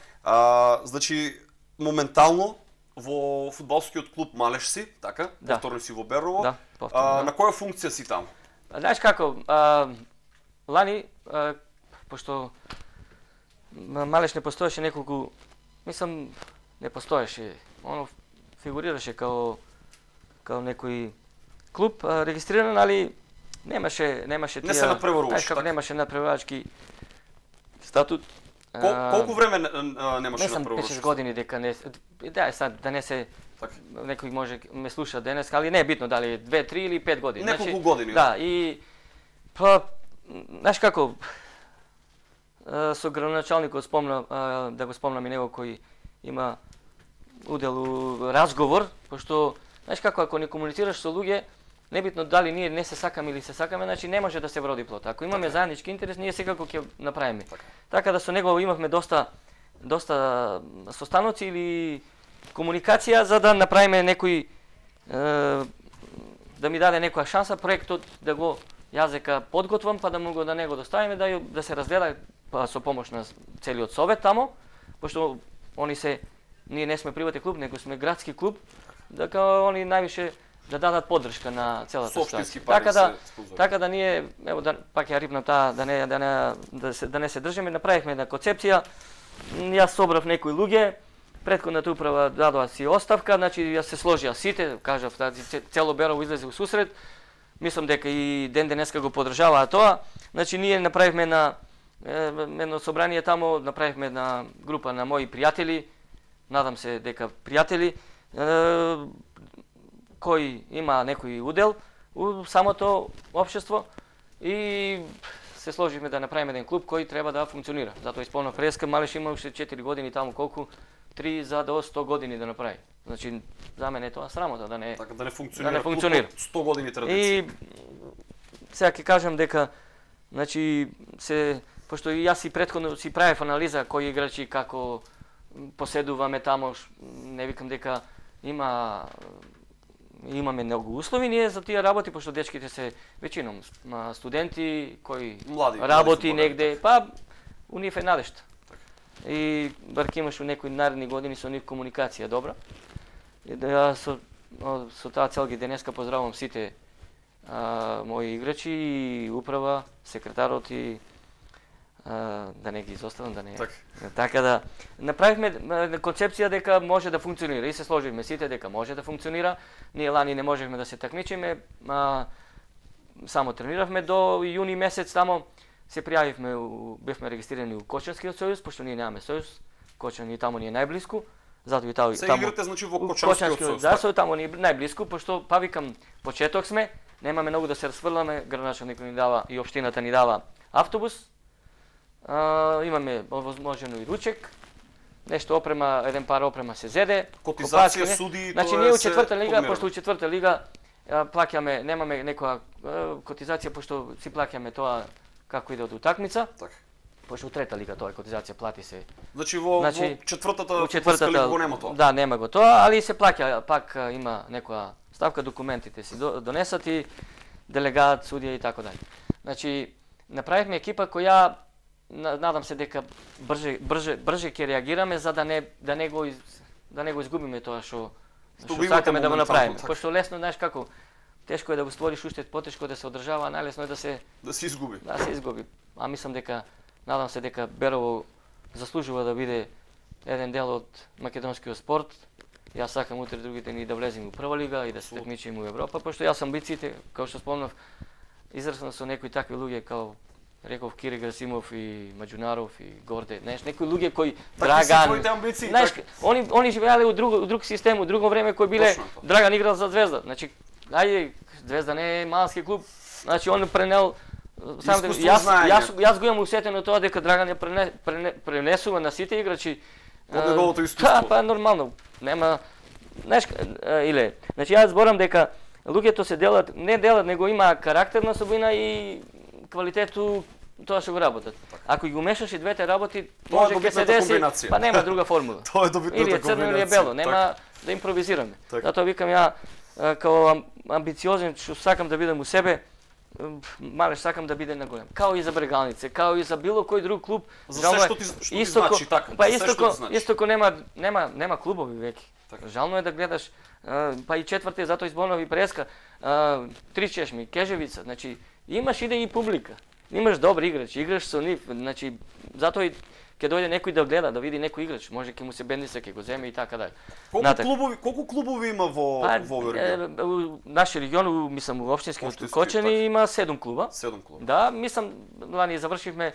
Значи моментално во фудбалскиот клуб Малеш си, така? Повторно си во Берово. Да, повторно. На која функција си таму? Знаеш како, лани, пошто Малеш не постоеше неколку, мислам, не постоеше, оно фигурираше као некој клуб регистриран, али немаше тие... Не се надпреваруваше, така? Немаше надпреварувачки статут Колку време немаше не сум на прво 5-6 години дека не да сад да не се некој може ме слуша денес, али не е битно дали 2, 3 или 5 години. Неколку години. Да, и па знаеш како со градоначалникот спомна да го спомнам и него кој има удел у разговор, пошто знаеш како ако не комуницираш со луѓе, небитно дали ние не се сакаме или се сакаме, значи не може да се вроди плод. Ако имаме заеднички интерес, ние секако ќе направиме. Така да со него имавме доста состаноци или комуникација за да направиме некој да ми даде некоја шанса проектот да го јазека подготвам, па да му го да него доставиме да се разгледа па со помош на целиот совет тамо, пошто ние не сме приватен клуб, него сме градски клуб, дека они највише да дадат поддршка на целата ситуација. Така да ние ево пак ја рипнам таа да не се држиме, направивме една концепција. Јас собрав некои луѓе, претходната управа дадоа си оставка, значи јас се сложија сите, кажав, цело Берово излезе у сусрет. Мислам дека и ден денеска го поддржаваа тоа. Значи ние направивме едно собрание тамо, направивме една група на мои пријатели, надам се дека пријатели, кој има некој удел у самото општество и се сложивме да направиме еден клуб кој треба да функционира. Затоа исполнав преска, Малеш има уште 4 години таму, колку 3 за до 100 години да направи. Значи за мене е тоа срамота да не функционира. 100 години традиција. И сега ќе кажам дека значи пошто и јас и претходно си правев анализа кои играчи како поседуваме тамо, не викам дека имаме многу услови ние за тие работи, пошто дечките се веćinom студенти кои работи негде, па у нив е надежда. И бар ќе имаш у некои наредни години со нив комуникација добра. И да со таа цел ги денеска поздравувам сите мои играчи и управа, секретарот и да не ги изоставам, да не. Така да направивме концепција дека може да функционира и се сложивме сите дека може да функционира. Ние лани не можевме да се такмичиме, само трениравме до јуни месец тамо. Се пријавивме, бевме регистрирани у Кочанскиот сојуз, пошто ние немаме сојуз. Кочан и тамо ни е најблиску. Затоа и тамо. Се играте значи во Кочанскиот сојуз. Да, со тамо ни е најблиску, пошто па викам почеток сме, немаме многу да се расфрламе, градоначалникот ни дава и општината ни дава автобус. Имаме возможено и ручек, нешто опрема, еден пар опрема се зеде, котизација суди, значи ние у четврта лига, пошто у четврта лига плаќаме, немаме некоја котизација пошто си плаќаме тоа како иде од утакмица. Така. Пошто у трета лига тоа котизација плати се. Значи во четвртата лига го нема тоа. Да, нема го тоа, али се плаќа, пак има некоја ставка, документите си донесат и делегат, судија и така дале. Значи направивме екипа која надам се дека брже ќе реагираме за да не го изгубиме тоа што сакаме да го направиме. Пошто лесно, знаеш како, тешко е да го створиш уште, потешко е да се одржава, најлесно е да се изгуби. Да се изгуби. А мислам дека надам се дека Берово заслужува да биде еден дел од македонскиот спорт. Јас сакам утре другите ни да влеземе у прва лига и да се такмичиме у Европа, пошто јас амбициите, како што спомнав, израснав со некои такви луѓе како реков Кири Грасимов и Маџунаров и Горде, знаеш, некои луѓе кои Драган, знаеш, они живеале у друг систем, у друго време кои биле Драган играл за Звезда. Значи, ајде, Звезда не е малски клуб. Значи он пренел јас го имам усетено тоа дека Драган ја пренесува на сите играчи од неговото искуство. Па нормално. Нема, знаеш, иле. Значи јас зборам дека луѓето се делат, не делат, него има карактерна особина и квалитету тоа што го работат. Ако ги умешаш и двете работи, може ќе се деси, па нема друга формула. Тоа е добитната комбинација. Или е црно или е бело, нема да импровизираме. Затоа викам ја као амбициозен што сакам да бидам у себе, Малеш сакам да биде на голем. Као и за Брегалнице, као и за било кој друг клуб. За се што ти значи така. Па Истоко нема клубови веќе. Жално е да гледаш, па и четврте, затоа изборнови преска, Три чешми, Кежевица, значи имаш иде и публика. Имаш добри играчи, играш со нив, значи затоа и ќе дојде некој да гледа, да види некој играч, може ќе му се бендиса, ќе го земе и така дале. Колку клубови има во регион? Нашиот регион, мислам, у општинскиот Кочани има 7 клуба. 7 клуба. Да, мислам, лани завршивме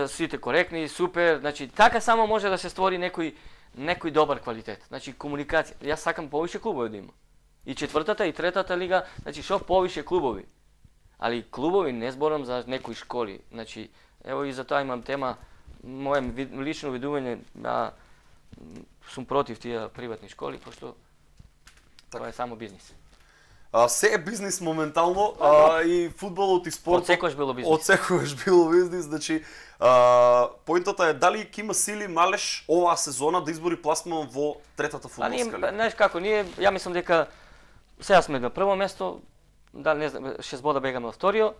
сите коректни, супер, значи така само може да се створи некој добар квалитет. Значи комуникација. Јас сакам повише клубови да има. И четвртата и третата лига, значи што повише клубови. Али клубови не зборам за некои школи. Значи ево и за тоа имам тема, мое лично видување, сум против тие приватни школи, пошто тоа е само бизнис. Се е бизнис моментално, и фудбалот и спортот. Од секојаш било бизнис. Од секојаш било бизнис, значи поинтата е дали ќе има сили Малеш оваа сезона да избори пласман во третата фудбалска лига. Знаеш како, ја мислам дека сега сме на прво место, дали не знам, 6 бода бегаме на вторио,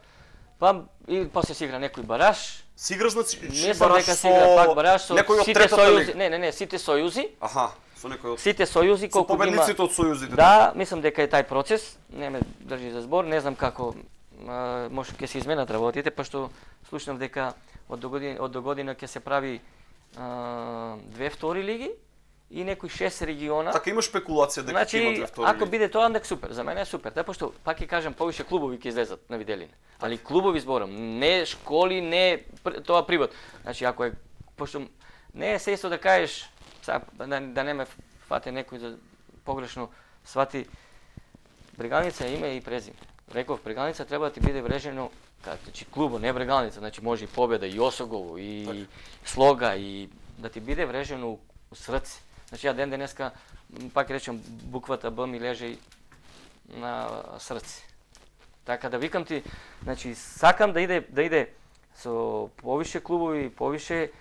и после се игра некој бараж. Си игра значи бараж со пак бараж со сите сојузи. Не, сите сојузи. Аха, со некој од сите сојузи колку има. Победниците од сојузите. Да, мислам дека е тај процес, не ме држи за збор, не знам како може ќе се изменат работите, пошто слушнав дека од до година ќе се прави 2 втори лиги и некои 6 региона. Така има спекулација дека ќе има 2 втори лиги. Ако биде тоа, дека супер, за мене е супер, таа пошто пак ќе кажам повише клубови ќе излезат на виделина. Али клубови зборам, не школи, не тоа приват. Значи ако е пошто не е се исто да кажеш да не ме фате некој за погрешно свати, Брегалница е име и презиме. Реков, Брегалница треба да ти биде врежено, значи клубо, не Брегалница, значи може и Победа, и Осогово, и Слога, и да ти биде врежено у срце. Значи ја ден денеска, пак речем, буквата Б ми лежи на срце. Така да викам ти, значи сакам да иде со повише клубови, повише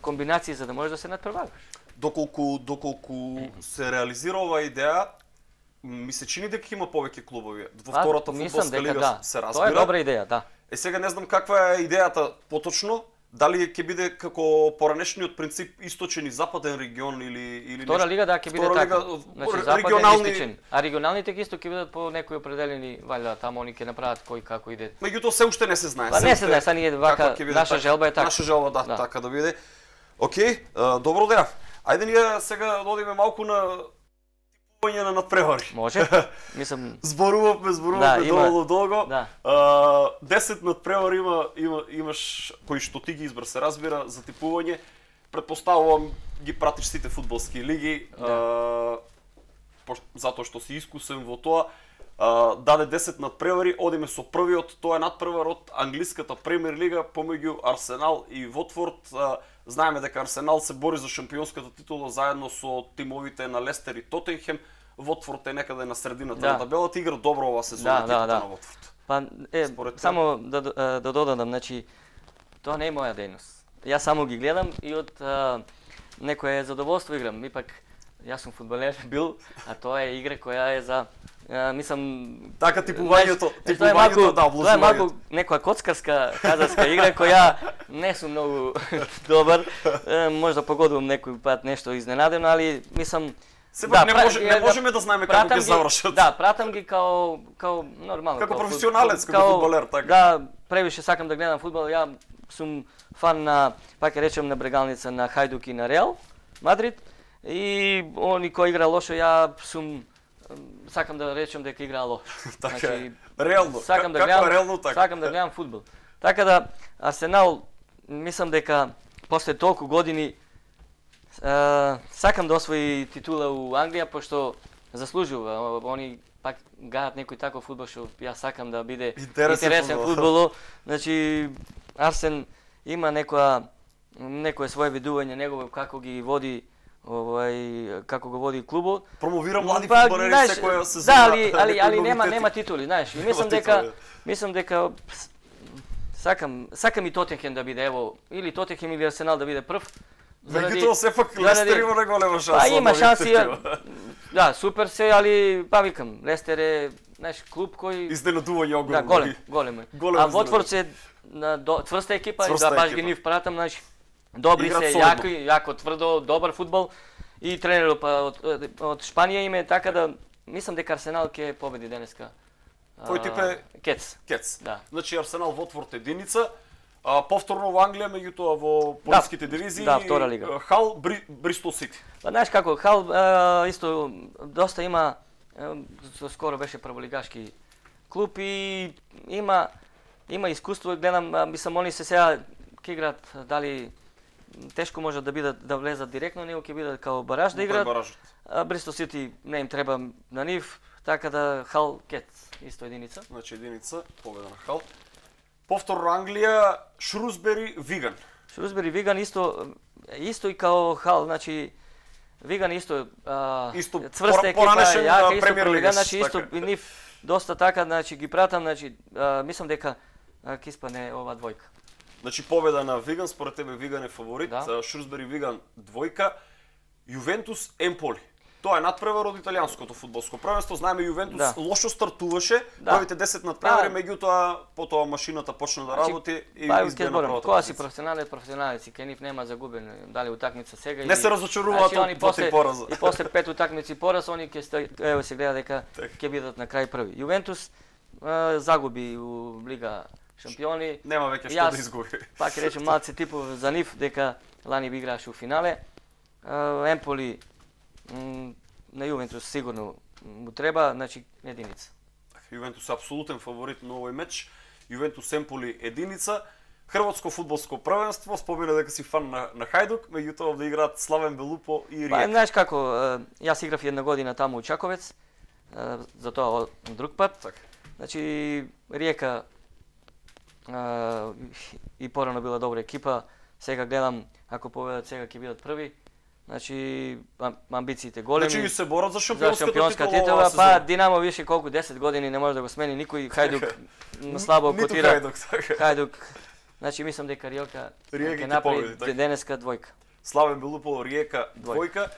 комбинации за да можеш да се надпреваруваш. Доколку се реализира оваа идеја, ми се чини дека има повеќе клубови. Во втората фудбалска лига се разбира. Тоа е добра идеја, да. Сега не знам каква е идејата поточно, дали ќе биде како поранешниот принцип источен и западен регион или Втора лига да ќе биде така. Значи западен и источен. А регионалните исто ќе бидат по некои определени, валја таму они ќе направат кој како иде. Меѓутоа се уште не се знае. Не се знае, са ние вака наша желба е така. Наша желба да, така да биде. Океј, добро деа. Ајде ние сега да одиме малку на типување на надпревари. Може. Мислам зборувавме долго. Да. 10 надпревари имаш кои што ти ги избра, се разбира, за типување. Претпоставувам ги пратиш сите фудбалски лиги, затоа што си искусен во тоа. Даде 10 надпревари, одиме со првиот, тоа е надпревар од англиската премиер лига помеѓу Арсенал и Watford. Знаеме дека Арсенал се бори за шампионската титула заедно со тимовите на Лестер и Тотенхем. Watford е некаде на средината на табелата, игра добро оваа сезона екипата на Watford. Па само да додадам, значи тоа не е моја дејност. Јас само ги гледам и од некое задоволство играм. Ипак јас сум фудбалер бил, а тоа е игра која е за мислам така типувањето да тоа е малку некоја коцкарска казарска игра која не сум многу добар. Може да погодувам некој пат нешто изненадено, али мислам сепак не можеме да знаеме како ќе завршат. Да, пратам ги као нормално. Како професионалец, како фудбалер, така. Да, превише сакам да гледам фудбал. Ја сум фан на, пак ќе речем, на Брегалница, на Хајдук и на Реал Мадрид. И они кои игра лошо, ја сум сакам да речем дека играа лошо. Значи реално. Сакам да гледам фудбал. Така да Арсенал мислам дека после толку години сакам да освои титула у Англија пошто заслужува. Они пак гајат некој таков фудбал што јас сакам да биде интересен фудбал. Значи Арсен има некое свое видување негово како ги води како го води клубот. Промовира млади фудбалери секоја сезона. Да, али нема титули, знаеш. И мислам дека сакам и Тотенхем да биде, ево, или Тотенхем или Арсенал да биде прв. Меѓутоа сепак Лестер има неголема шанса. Има шанси. Да, супер се, али викам, Лестер е, знаеш, клуб кој изненадување огромно. Да, голем. А Watford се цврста екипа, да баш ги нив пратам, знаеш. Добри се, јако тврдо, добар фудбал и тренерот од Шпанија име, така да мислам дека Арсенал ќе победи денеска. Кој тип е? Кец. Да. Значи Арсенал Watford единица, повторно во Англија, меѓутоа во полските дивизии. Да, втора лига. Хал Бристол Сити. Па знаеш како, Хал исто доста има, скоро беше прволигашки клуб и има искуство, гледам, мислам они се сега ќе играат дали тешко може да бидат да влезат директно, него ќе бидат као бараж да играат. Бристол Сити не им треба на нив, така да Хал Кет исто единица. Значи единица, победа на Хал. Повторно Англија, Шрусбери, Виган. Шрусбери, Виган исто и као Хал, значи Виган исто цврста екипа, јака исто пролига, значи исто и нив доста така, значи ги пратам, значи мислам дека ќе испадне ова двојка. Значи победа на Виган, според тебе Виган е фаворит, да. Шрусбери Виган двојка, Јувентус Емполи. Тоа е надпревар од италијанското фудбалско првенство. Знаеме Јувентус лошо стартуваше, првите 10 надпревари, меѓутоа потоа машината почна да работи и избеа на првата. Кога си професионалеци, кај нив нема загубен, дали утакмица сега. Не се разочаруваат од тој пораз. И после 5 утакмици пораз, они ќе се гледа дека ќе бидат на крај први. Јувентус загуби у Лига Шампиони. Нема веќе што да изгуби. Пак ќе речем малце типов за нив дека лани би играше у финале. Емполи на Јувентус сигурно му треба, значи единица. Јувентус е апсолутен фаворит на овој меч. Јувентус Емполи единица. Хрватско фудбалско првенство, спомена дека си фан на Хајдук, меѓутоа да играат Славен Белупо и Риека. Знаеш како, јас играв една година таму у Чаковец, затоа друг пат. Так. Значи Риека и порано била добра екипа, сега гледам ако победат сега ќе бидат први. Значи амбициите големи. Значи се борат за шампионска титула. Па Динамо више колку 10 години не може да го смени никој. Хајдук слабо котира. Хајдук. Значи мислам дека Риека ќе направи денеска двојка. Славен Белупо, Риека двојка.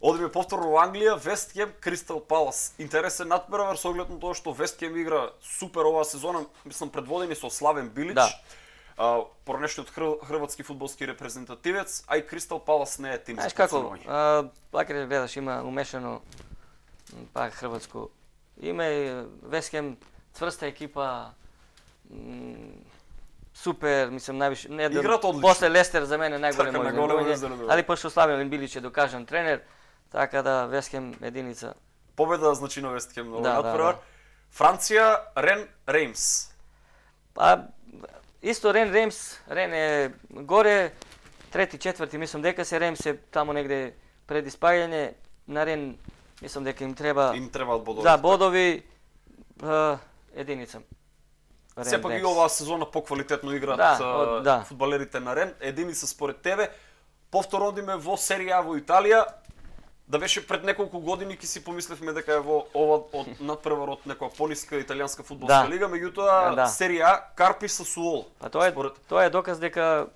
Одиме повторно во Англија, Вест Хем, Кристал Палас. Интересен надпревар со оглед на тоа што Вест Хем игра супер оваа сезона, мислам предводени со Славен Билич. Да. Поранешниот хрватски фудбалски репрезентативец, а и Кристал Палас не е тим. Знаеш како, пак гледаш има умешано пак хрватско име, Вест Хем цврста екипа, супер, мислам највише, не играат одлично. После Лестер за мене најголем мој, али пошто Славен Билич е докажан тренер, така да Вест Хем единица. Победа значи на Вест Хем на овој надпревар. Франција, Рен Реймс. Па исто Рен е горе, трети, четврти, мислам дека се Реймс е таму негде пред испаѓање, на Рен мислам дека им требаат бодови. Да, бодови единица. Сепак и оваа сезона поквалитетно играат фудбалерите на Рен. Единица според тебе. Повторно одиме во Серија во Италија. Да беше пред неколку години ќе си помислевме дека е во ова од надпревар од некоја пониска италијанска фудбалска лига, меѓутоа Серија Карпи Сасуоло. А тоа е доказ дека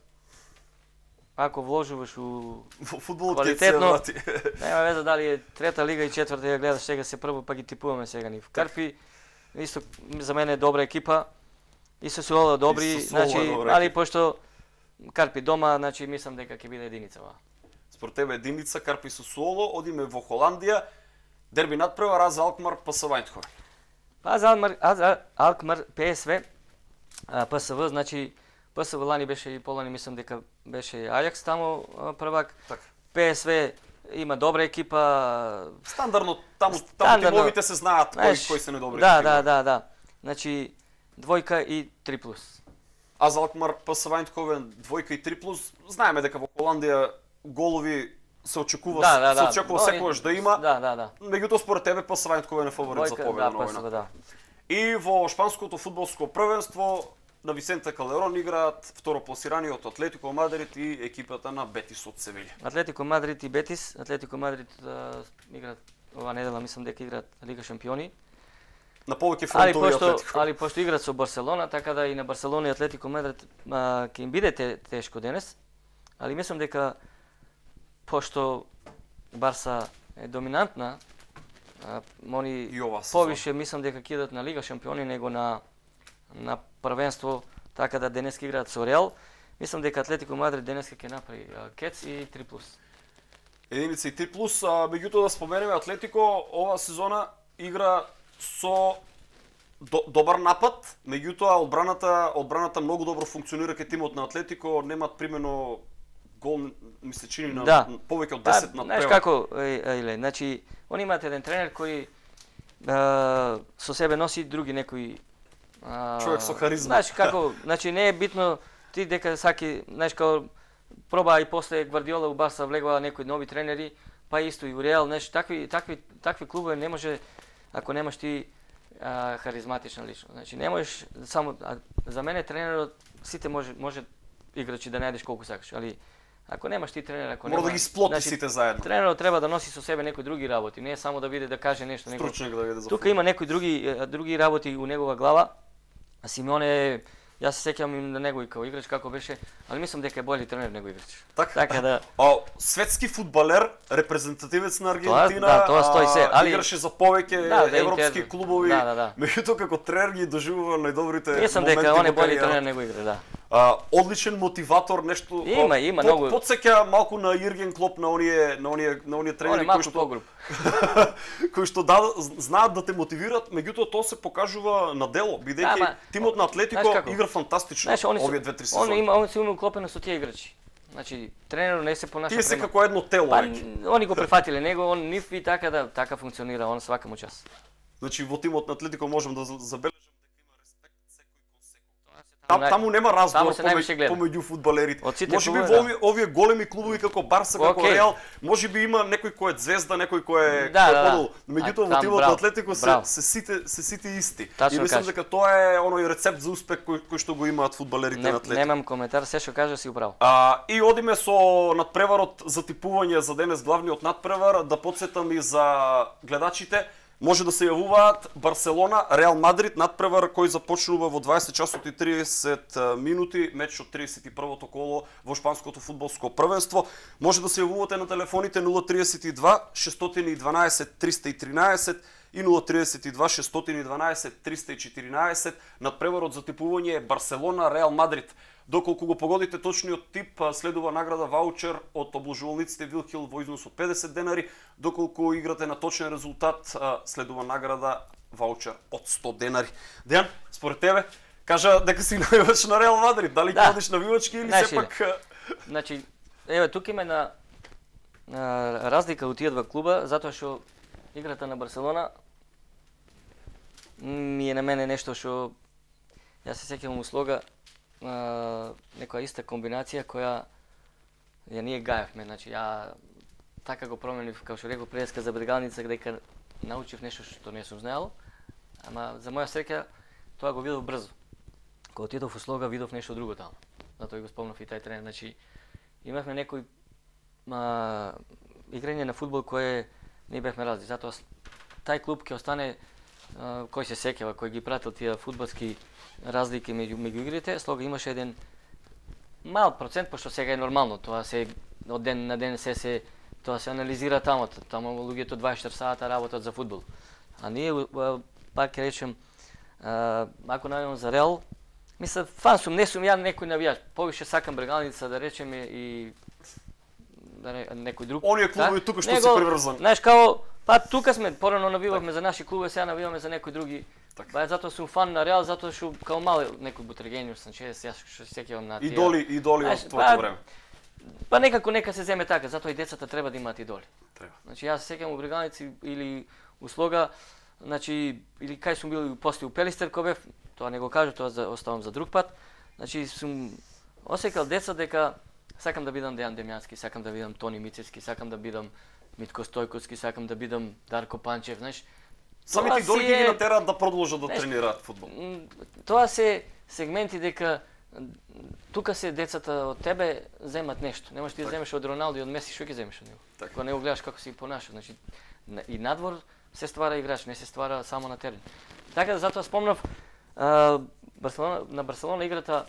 ако вложуваш у фудбалот квалитетно, нема веза дали е трета лига и четврта ја гледаш сега се прво, па ги типуваме сега нив. Карпи исто за мене е добра екипа и Сасуоло добри, значи али пошто Карпи дома, значи мислам дека ќе биде единица ова. Според тебе единица Карпи Сасуоло, одиме во Холандија. Дерби надпревар AZ Алкмар ПСВ Еиндховен. AZ Алкмар ПСВ ПСВ, значи ПСВ лани беше и полани, мислам дека беше Ајакс таму првак. ПСВ има добра екипа. Стандардно таму тимовите се знаат кои се недобри. Да. Значи двојка и 3+. AZ Алкмар ПСВ Еиндховен двојка и 3+. Знаеме дека во Холандија голови се очекува секогаш да има. Меѓутоа според тебе ПСВ Еиндховен е фаворит за победа на овој. И во шпанското фудбалско првенство на Висенте Калерон играат второпласираниот Атлетико Мадрид и екипата на Бетис од Севилја. Атлетико Мадрид и Бетис, Атлетико Мадрид играат ова недела, мислам дека играат Лига Шампиони. На повеќе фронтови Атлетико. Али пошто играат со Барселона, така да и на Барселона и Атлетико Мадрид ќе им биде тешко денес. Али мислам дека пошто Барса е доминантна, они повише мислам дека ќе идат на Лига Шампиони него на првенство, така да денес ќе играат со Реал. Мислам дека Атлетико Мадрид денес ќе направи кец и 3+. Единица и 3+, меѓутоа да споменеме Атлетико ова сезона игра со добар напад, меѓутоа одбраната многу добро функционира кај тимот на Атлетико, немаат примено гол, ми се чини на повеќе од 10 на знаеш како, значи, они имаат еден тренер кој со себе носи други некои човек со харизма. Знаеш како, значи не е битно ти дека саки, знаеш, као проба и после Гвардиола у Барса влегува некои нови тренери, па исто и у Реал, знаеш, такви клубови не може ако немаш ти харизматична личност. Значи не можеш само за мене тренерот сите може играчи да најдеш колку сакаш, али ако немаш ти тренер, ако мора да ги сплоти сите заедно. Тренерот треба да носи со себе некои други работи, не само да биде да каже нешто, стручник да биде за тука има некои други работи у негова глава. А Симеоне, јас се сеќавам и на него и као играч како беше, али мислам дека е бољи тренер него играч. Така да светски фудбалер, репрезентативец на Аргентина, тоа стои се, али играше за повеќе европски клубови. Меѓутоа како тренер ги доживува најдобрите моменти. Мислам дека он е бољи тренер него играч, да. Одличен мотиватор, нешто има многу. Потсеќа малку на Јерген Клоп, на оние тренери кои што знаат да те мотивираат, меѓутоа тоа се покажува на дело, бидејќи тимот на Атлетико игра фантастично овие 2-3 сезони. Он се уклопено со тие играчи. Значи тренерот не се понаша тие се како едно тело. Они го префатиле него, он нив и така функционира, он свака му час. Значи во тимот на Атлетико можам да забележам дека има респект секој кон секој. Таму нема разговор помеѓу фудбалерите. Можеби во овие големи клубови како Барса, како Реал, можеби има некој кој е звезда, некој кој е подол. Меѓутоа во тимот на Атлетико се сите исти. И мислам дека тоа е оној рецепт за успех кој што го имаат фудбалерите на Атлетико. Немам коментар, се што кажа си управо. И одиме со надпреварот за типување за денес, главниот надпревар, да потсетам и за гледачите. Може да се јавуваат Барселона, Реал Мадрид, надпревар кој започнува во 20 часот и 30 минути, меч од 31-то коло во шпанското фудбалско првенство. Може да се јавувате на телефоните 032 612 313 и 032 612 314. Надпреварот за типување е Барселона, Реал Мадрид. Доколку го погодите точниот тип, следува награда ваучер од обложувалниците Вилхил во износ од 50 денари. Доколку играте на точен резултат, следува награда ваучер од 100 денари. Дејан, според тебе, кажа дека си навивач на Реал Мадрид, дали ходиш навивачки или сепак? Значи, еве тука има една разлика од тие два клуба, затоа што играта на Барселона ми е на мене нешто што јас се сеќавам услога некоја иста комбинација која ја ние гаевме, значи ја така го променив, како што реков преска за Брегалница, дека научив нешто што не сум знаел, ама за моја среќа тоа го видов брзо. Кога отидов во Слога видов нешто друго таму. Затоа го спомнав и тај тренер, значи имавме некој играње на фудбал кое не бевме разли, затоа тај клуб ќе остане кој се сеќава, кој ги пратил тие фудбалски разлики меѓу игрите. Слога имаше еден мал процент, пошто сега е нормално, тоа се од ден на ден тоа се анализира таму луѓето 24 сата работат за фудбал. А ние пак ќе речем, ако најдам за Реал, мислам фан сум, не сум ја некој навијач, повише сакам Брегалница да речеме и некој друг. Оние клубови тука што се приврзани. Знаеш као па тука сме, порано навивавме за наши клубови, сега навиваме за некои други. Па затоа сум фан на Реал, затоа што као мал некој Бутрегениус, Санчес, јас што се сеќавам на тие. Идоли од твоето време. Па некако нека се земе така, затоа и децата треба да имаат идоли. Треба. Значи јас се сеќавам у Брегалници или у Слога, значи или кај сум бил после у Пелистер кога бев, тоа не го кажу, тоа оставам за друг пат. Значи сум осекал деца дека сакам да бидам Дејан Демјански, сакам да бидам Тони Мицевски, сакам да бидам Митко Стојковски, сакам да бидам Дарко Панчев, знаеш. Самите идоли ги натераат да продолжат да тренираат фудбал. Тоа се сегменти дека тука се децата од тебе земат нешто. Немаш ти да земеш од Роналдо и од Меси, што ќе земеш од него? Кога не го гледаш како се понаша, значи и надвор се ствара играч, не се ствара само на терен. Така да затоа спомнав на Барселона играта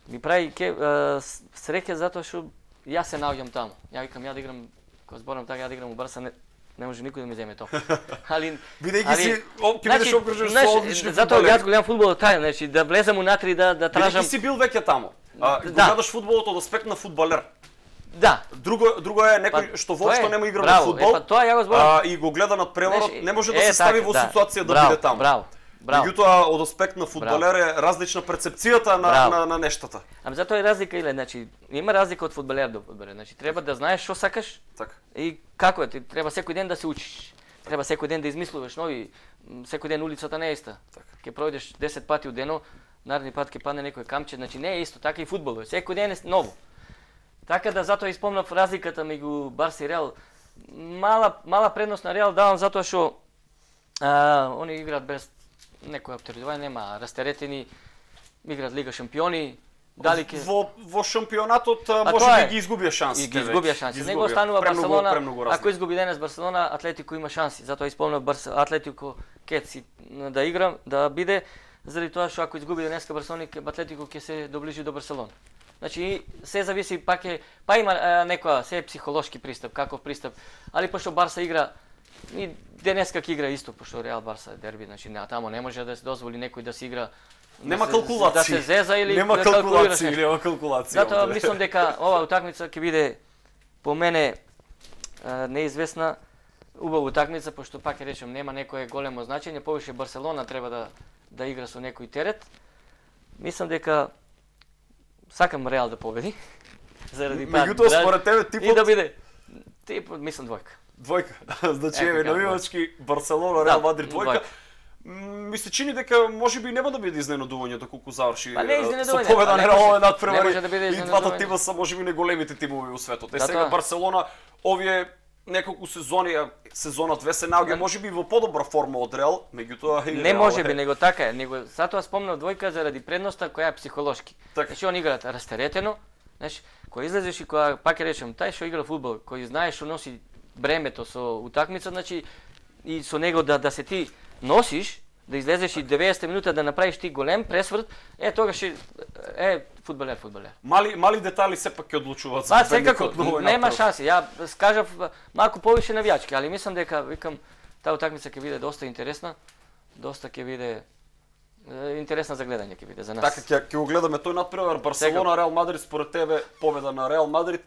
ми прави среќа затоа што јас се наоѓам таму. Ја викам ја да играм, кога зборам така ја да играм у Барса, не може никој да ми земе тоа. Али бидејќи си ќе бидеш окружен со одлични фудбалери. Затоа јас гледам фудбал тај, значи да влезам унатре и да тражам. Бидејќи си бил веќе таму. Гледаш фудбалот од аспект на фудбалер. Да. Друго е некој што воопшто нема игра на фудбал. Тоа ја го зборам. И го гледа над преворот, не може да се стави во ситуација да биде таму. Браво. Меѓутоа од аспект на фудбалер е различна перцепцијата на нештата. Ами затоа е разлика или значи има разлика од фудбалер до фудбалер. Значи треба да знаеш што сакаш. Така. И како е, ти треба секој ден да се учиш. Треба секој ден да измислуваш нови, секој ден улицата не е иста. Така. Ќе пројдеш 10 пати у денот, наредни пат ќе падне некој камче, значи не е исто, така и фудбалот, секој ден е ново. Така да затоа испомнав разликата меѓу Барса и Реал. Мала предност на Реал давам затоа што они играат без некој оптеретување, нема растеретени, играат Лига шампиони. Дали ке во шампионатот може би ги изгубија шанси. Ги изгубија шанси. Него останува Барселона. Ако изгуби денес Барселона, Атлетико има шанси. Затоа исполнав Атлетико кеци да игра, да биде заради тоа што ако изгуби денеска Барселона, Атлетико ќе се доближи до Барселона. Значи се зависи па има некоја се психолошки пристап, каков пристап, али пошто Барса игра и денеска ќе игра исто, пошто Реал Барса е дерби, значи тамо не може да се дозволи некој да се игра. Нема калкулација. Да се зеза или нема да калкулираш. Нема калкулација. Затоа мислам дека оваа утакмица ќе биде по мене неизвестна, убава утакмица, пошто пак ќе речем нема некое големо значење, повише Барселона треба да игра со некој терет. Мислам дека сакам Реал да победи. Заради меѓутоа според тебе типот и да биде типот мислам двојка. Двојка. Значи еве навивачки Барселона, Реал Мадрид двојка. Ми се чини дека можеби нема да биде изненадувањето колку заврши со победа на Реал надпревари. И двата тима се можеби најголемите тимови во светот. Сега Барселона овие неколку сезони, сезона 2 се наоѓа можеби во подобра форма од Реал, меѓутоа не можеби, него така е, него затоа спомнав двојка заради предноста која е психолошки. Значи он играат растеретено, знаеш, кој излезеш и која пак ќе речем, тај што игра фудбал, кој знае што носи бремето со утакмица, значи и со него да се ти носиш, да излезеш и 90 минута да направиш ти голем пресврт, тогаш фудбалер. Мали детали сепак ќе одлучуваат за секако, нема шанси. Ја скажав малку повише навијачки, али мислам дека викам таа утакмица ќе биде доста интересна, доста ќе биде интересна за гледање ќе биде за нас. Така ќе го гледаме тој надпревар Барселона Реал Мадрид, според тебе победа на Реал Мадрид.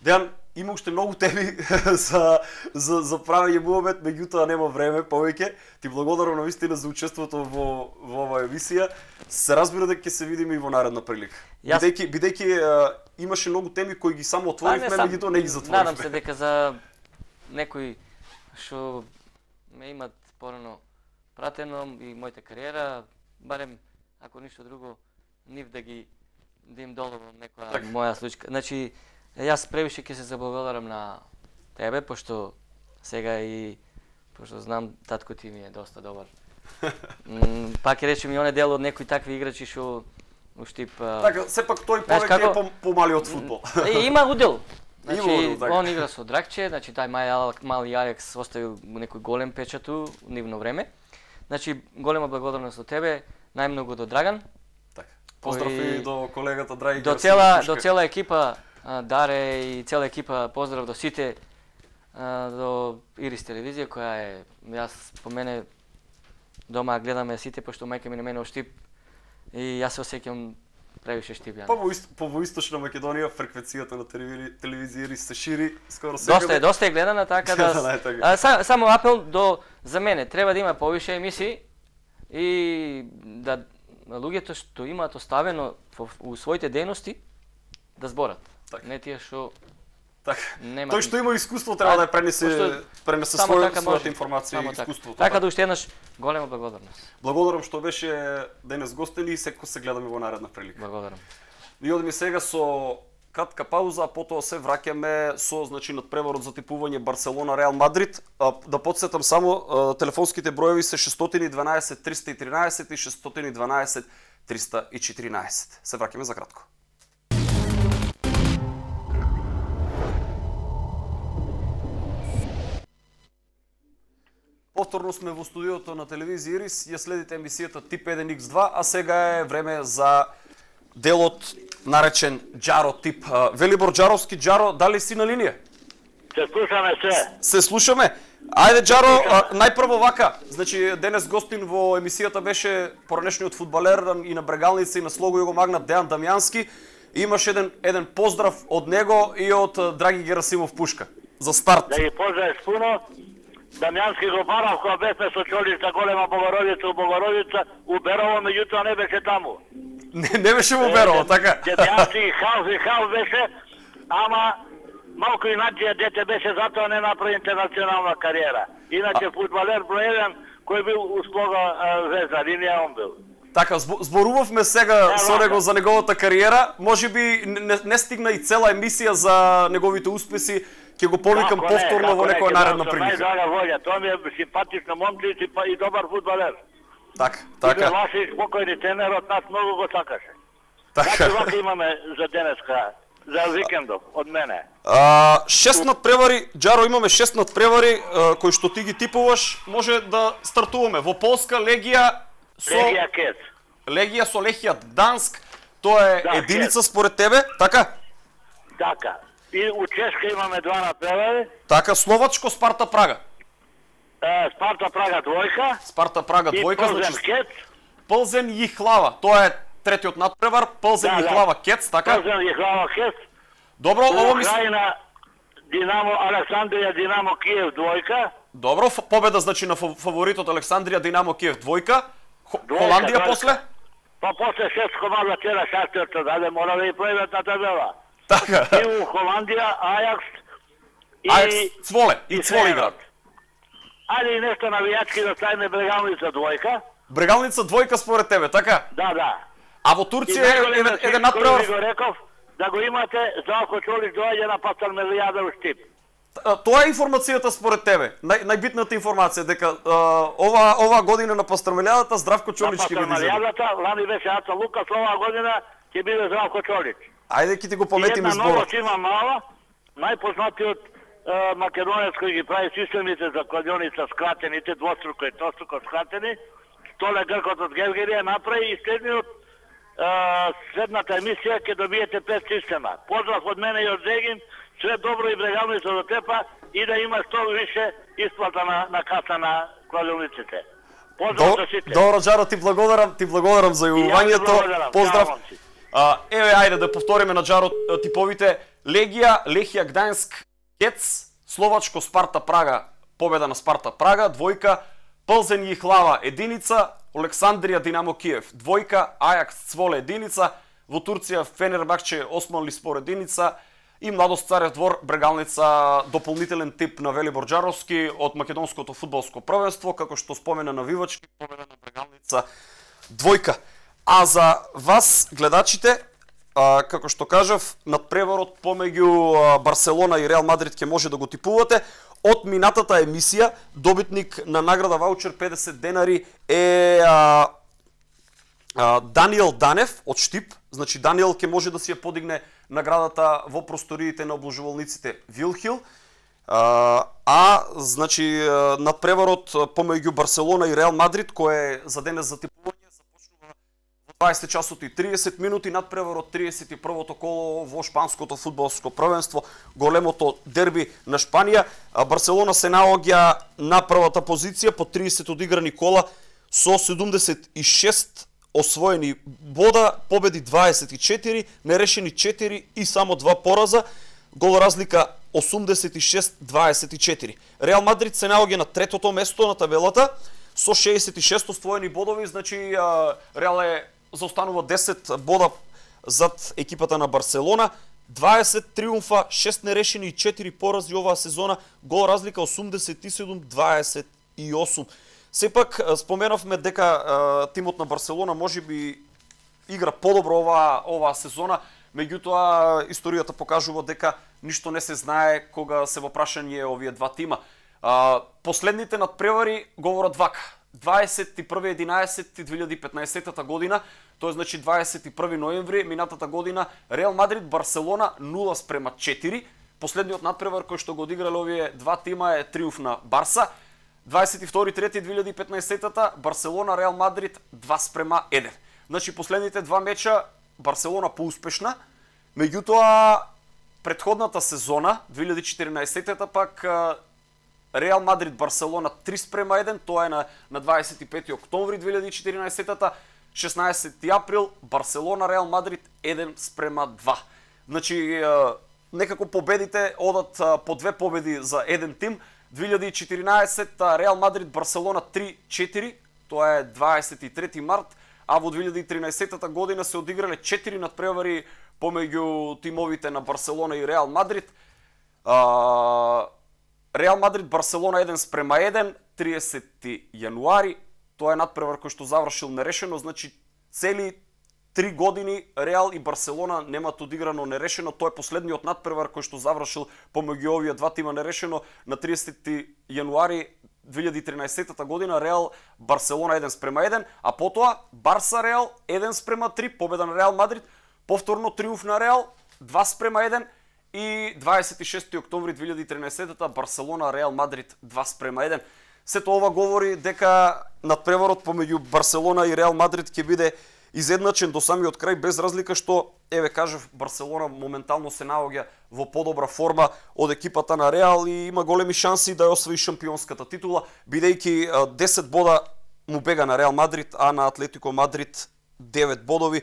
Дејан, има уште многу теми за правење муабет, меѓутоа нема време повеќе. Ти благодарам навистина за учеството во оваа емисија. Се разбира дека ќе се видиме и во наредна прилика. Бидејќи имаше многу теми кои ги само отворивме, меѓутоа не ги затворивме. Надам се дека за некои што ме имат порано пратено и мојата кариера, барем ако ништо друго, нив да им доловам некоја моја случка. Значи јас превише ќе се заблагодарам на тебе, пошто сега и пошто знам татко ти ми е доста добар. Пак ќе речем и оне дел од некои такви играчи што уштип. Така, сепак тој повеќе е помали од фудбал. Има удел. Значи он игра со Драгче, значи тај мали Алекс оставил некој голем печат у нивно време. Значи голема благодарност до тебе, најмногу до Драган. Така. Поздрави до колегата Драги. До цела екипа Даре и цела екипа, поздрав до сите, до Ирис телевизија која е, јас по мене дома гледаме сите, пошто мајка ми на мене Штип и јас се осеќам превише Штип. Па во Источна Македонија фреквенцијата на телевизија Ирис се шири скоро секаде. Доста е гледана, така да само апел за мене, треба да има повише емисии и да луѓето што имаат оставено у своите дејности да зборат. Не тие што нема. Тој што има искуство треба да пренесе својата информација и искуството. Така да уште еднаш голема благодарност. Благодарам што беше денес гостин и секој се гледаме во наредна прилика. Благодарам. И одиме сега со кратка пауза, а потоа се враќаме со надпреварот за типување Барселона Реал Мадрид. Да потсетам само телефонските броеви се 612 313 и 612 314. Се враќаме за кратко. Повторно сме во студиото на телевизија Ирис, ја следите емисијата Тип 1X2, а сега е време за делот наречен Џаро Тип. Велибор Џаровски, Џаро, дали си на линија? Се слушаме се. Се слушаме. Ајде Џаро, најпрво вака, значи денес гостин во емисијата беше поранешниот фудбалер и на Брегалница и на Слого Југомагнат Дејан Дамјански. Имаш еден поздрав од него и од Драги Герасимов Пушка. За старт. Да ги поздравиш пуно. Дамјански го барав кога бевме со Чолишта голема Богородица у Богородица, у Берово, меѓутоа не беше таму. Не беше во Берово, така? Дамјански халф беше, ама малку иначе дете беше, затоа не направи интернационална кариера. Иначе фудбалер број 1 кој бил у Слога Звезда, линија он бил. Така, зборувавме сега со него за неговата кариера, можеби не стигна и цела емисија за неговите успеси, ќе го повикам повторно во некоја наредна прилика. Најдрага волја, тоа ми е симпатична момче и добар фудбалер. Така. И ваши спокојни тренерот нас многу го сакаше. Така вака имаме за денеска, за викендов, од мене. 6 надпревари, Џаро, имаме 6 надпревари кои што ти ги типуваш, може да стартуваме. Во Полска Легија со Легија со Лехија Гданск, тоа е единица според тебе, така? Така. И у Чешка имаме 2 надпревари. Така, Словачко Спарта Прага. Спарта Прага двојка. Спарта Прага двојка, значи Кец. Пълзен Јихлава, тоа е третиот надпревар, Пълзен Јихлава Кец, така? Пълзен Јихлава Кец. Добро, ово мислам. Украина Динамо Александрија Динамо Киев двојка. Добро, победа значи на фаворитот Александрија Динамо Киев двојка. Холандија после? Па после 6 комада вчера Шахтерот даде, мора да и пројдат на табела. Така. И у Холандија Ајакс и Цволе, и Цволе играат. Ајде и нешто навијачки да ставиме Брегалница двојка. Брегалница двојка според тебе, така? Да. А во Турција еден надпревар. Го реков да го имате, Здравко Чолич доаѓа на Пастармелијада у Штип. Тоа е информацијата според тебе, најбитната информација дека ова година на Пастармелијадата Здравко Чолич ќе биде. На Пастармелијадата лани беше Аца Лукас, оваа година ќе биде Здравко Чолич. Ајде ќе ти го пометиме зборот. Една новост има мала, најпознатиот македонец кој ги прави системите за кладионица скратените, двоструко и троstruко скратени, Столе Гркот од Гевгерија направи и следната емисија ќе добиете 5 система. Поздрав од мене и од Зегин, све добро и Брегалница до тепа и да има што више исплата на каса на кладиониците. Поздрав за сите. Добро, Џаро, ти благодарам за јавувањето. Поздрав. Еве, ајде да повториме на Џаро типовите. Легија, Лехија Гдајнск, Кец, Словачко Спарта Прага, победа на Спарта Прага, двојка, Пълзен Јихлава, единица, Александрија Динамо Киев, двојка, Ајакс Цволе, единица, во Турција Фенербахче Османлиспор, единица и Младост Царев двор, Брегалница, дополнителен тип на Велибор Џаровски од македонското фудбалско првенство, како што спомена навивачки, победа на Брегалница, двојка. А за вас, гледачите, како што кажав, надпреварот помеѓу Барселона и Реал Мадрид ќе може да го типувате. Од минатата емисија, добитник на награда ваучер 50 денари е Даниел Данев од Штип. Значи, Даниел ќе може да си ја подигне наградата во просториите на обложувалниците Вилхил. Значи, надпреварот помеѓу Барселона и Реал Мадрид, кој е за денес за типување, 20 часот и 30 минути, надпреварот 31-то коло во шпанското фудбалско првенство, големото дерби на Шпанија. Барселона се наоѓа на првата позиција по 30 одиграни кола со 76 освоени бода, победи 24, нерешени 4 и само 2 пораза, гол разлика 86-24. Реал Мадрид се наоѓа на третото место на табелата со 66 освоени бодови, значи Реал заостанува 10 бода зад екипата на Барселона, 20 триумфа, 6 нерешени и 4 порази оваа сезона, гол разлика 87-28. Сепак споменавме дека тимот на Барселона можеби игра подобро оваа сезона, меѓутоа историјата покажува дека ништо не се знае кога се во прашање овие два тима. Последните надпревари говорат вака. 21.11.2015 година, тоа значи 21 ноември минатата година, Реал Мадрид Барселона 0:4. Последниот надпревар кој што го одиграле овие два тима е триумф на Барса. 22.3.2015 Барселона Реал Мадрид 2:1. Значи последните два меча Барселона поуспешна, меѓутоа претходната сезона 2014 пак Реал Мадрид Барселона 3:1, тоа е на 25 октомври 2014-та, 16 април Барселона Реал Мадрид 1:2. Значи некако победите одат по две победи за еден тим. 2014 Реал Мадрид Барселона 3:4, тоа е 23 март, а во 2013 година се одиграле 4 надпревари помеѓу тимовите на Барселона и Реал Мадрид. Реал Мадрид Барселона 1:1, 30 јануари, Тоа е надпревар кој што завршил нерешено, значи цели 3 години Реал и Барселона немаат одиграно нерешено. Тоа е последниот надпревар кој што завршил помеѓу овие два тима нерешено на 30 јануари 2013 година. Реал Барселона 1:1, а потоа Барса Реал 1:3, победа на Реал Мадрид, повторно триумф на Реал 2:1 и 26 октомври 2013 Барселона Реал Мадрид 2:1. Сето ова говори дека надпреварот помеѓу Барселона и Реал Мадрид ќе биде изедначен до самиот крај, без разлика што, еве кажав, Барселона моментално се наоѓа во подобра форма од екипата на Реал и има големи шанси да ја освои шампионската титула, бидејќи 10 бода му бега на Реал Мадрид, а на Атлетико Мадрид 9 бодови.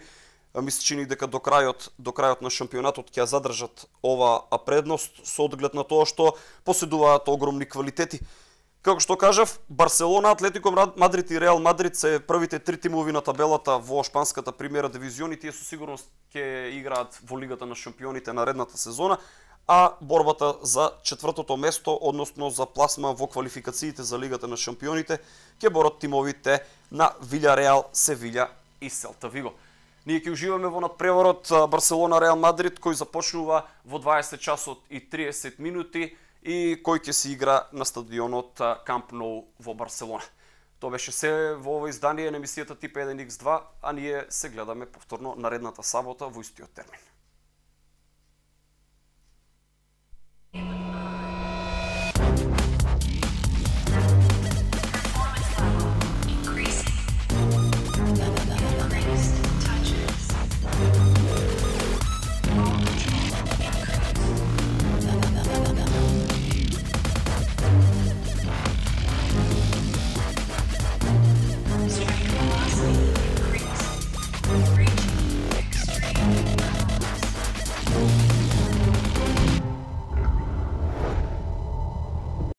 Ми се чини дека до крајот на шампионатот ќе ја задржат оваа предност со одглед на тоа што поседуваат огромни квалитети. Како што кажав, Барселона, Атлетико Мадрид и Реал Мадрид се првите 3 тимови на табелата во шпанската премиера дивизион и тие со сигурност ќе играат во Лигата на шампионите наредната сезона, а борбата за четвртото место, односно за пласма во квалификациите за Лигата на шампионите, ќе борат тимовите на Вилјареал, Севиља и Селта Виго. Ние ќе уживаме во надпреварот Барселона Реал Мадрид кој започнува во 20 часот и 30 минути и кој ќе се игра на стадионот Камп Ноу во Барселона. Тоа беше се во ова издание на емисијата Тип 1Х2, а ние се гледаме повторно наредната сабота во истиот термин.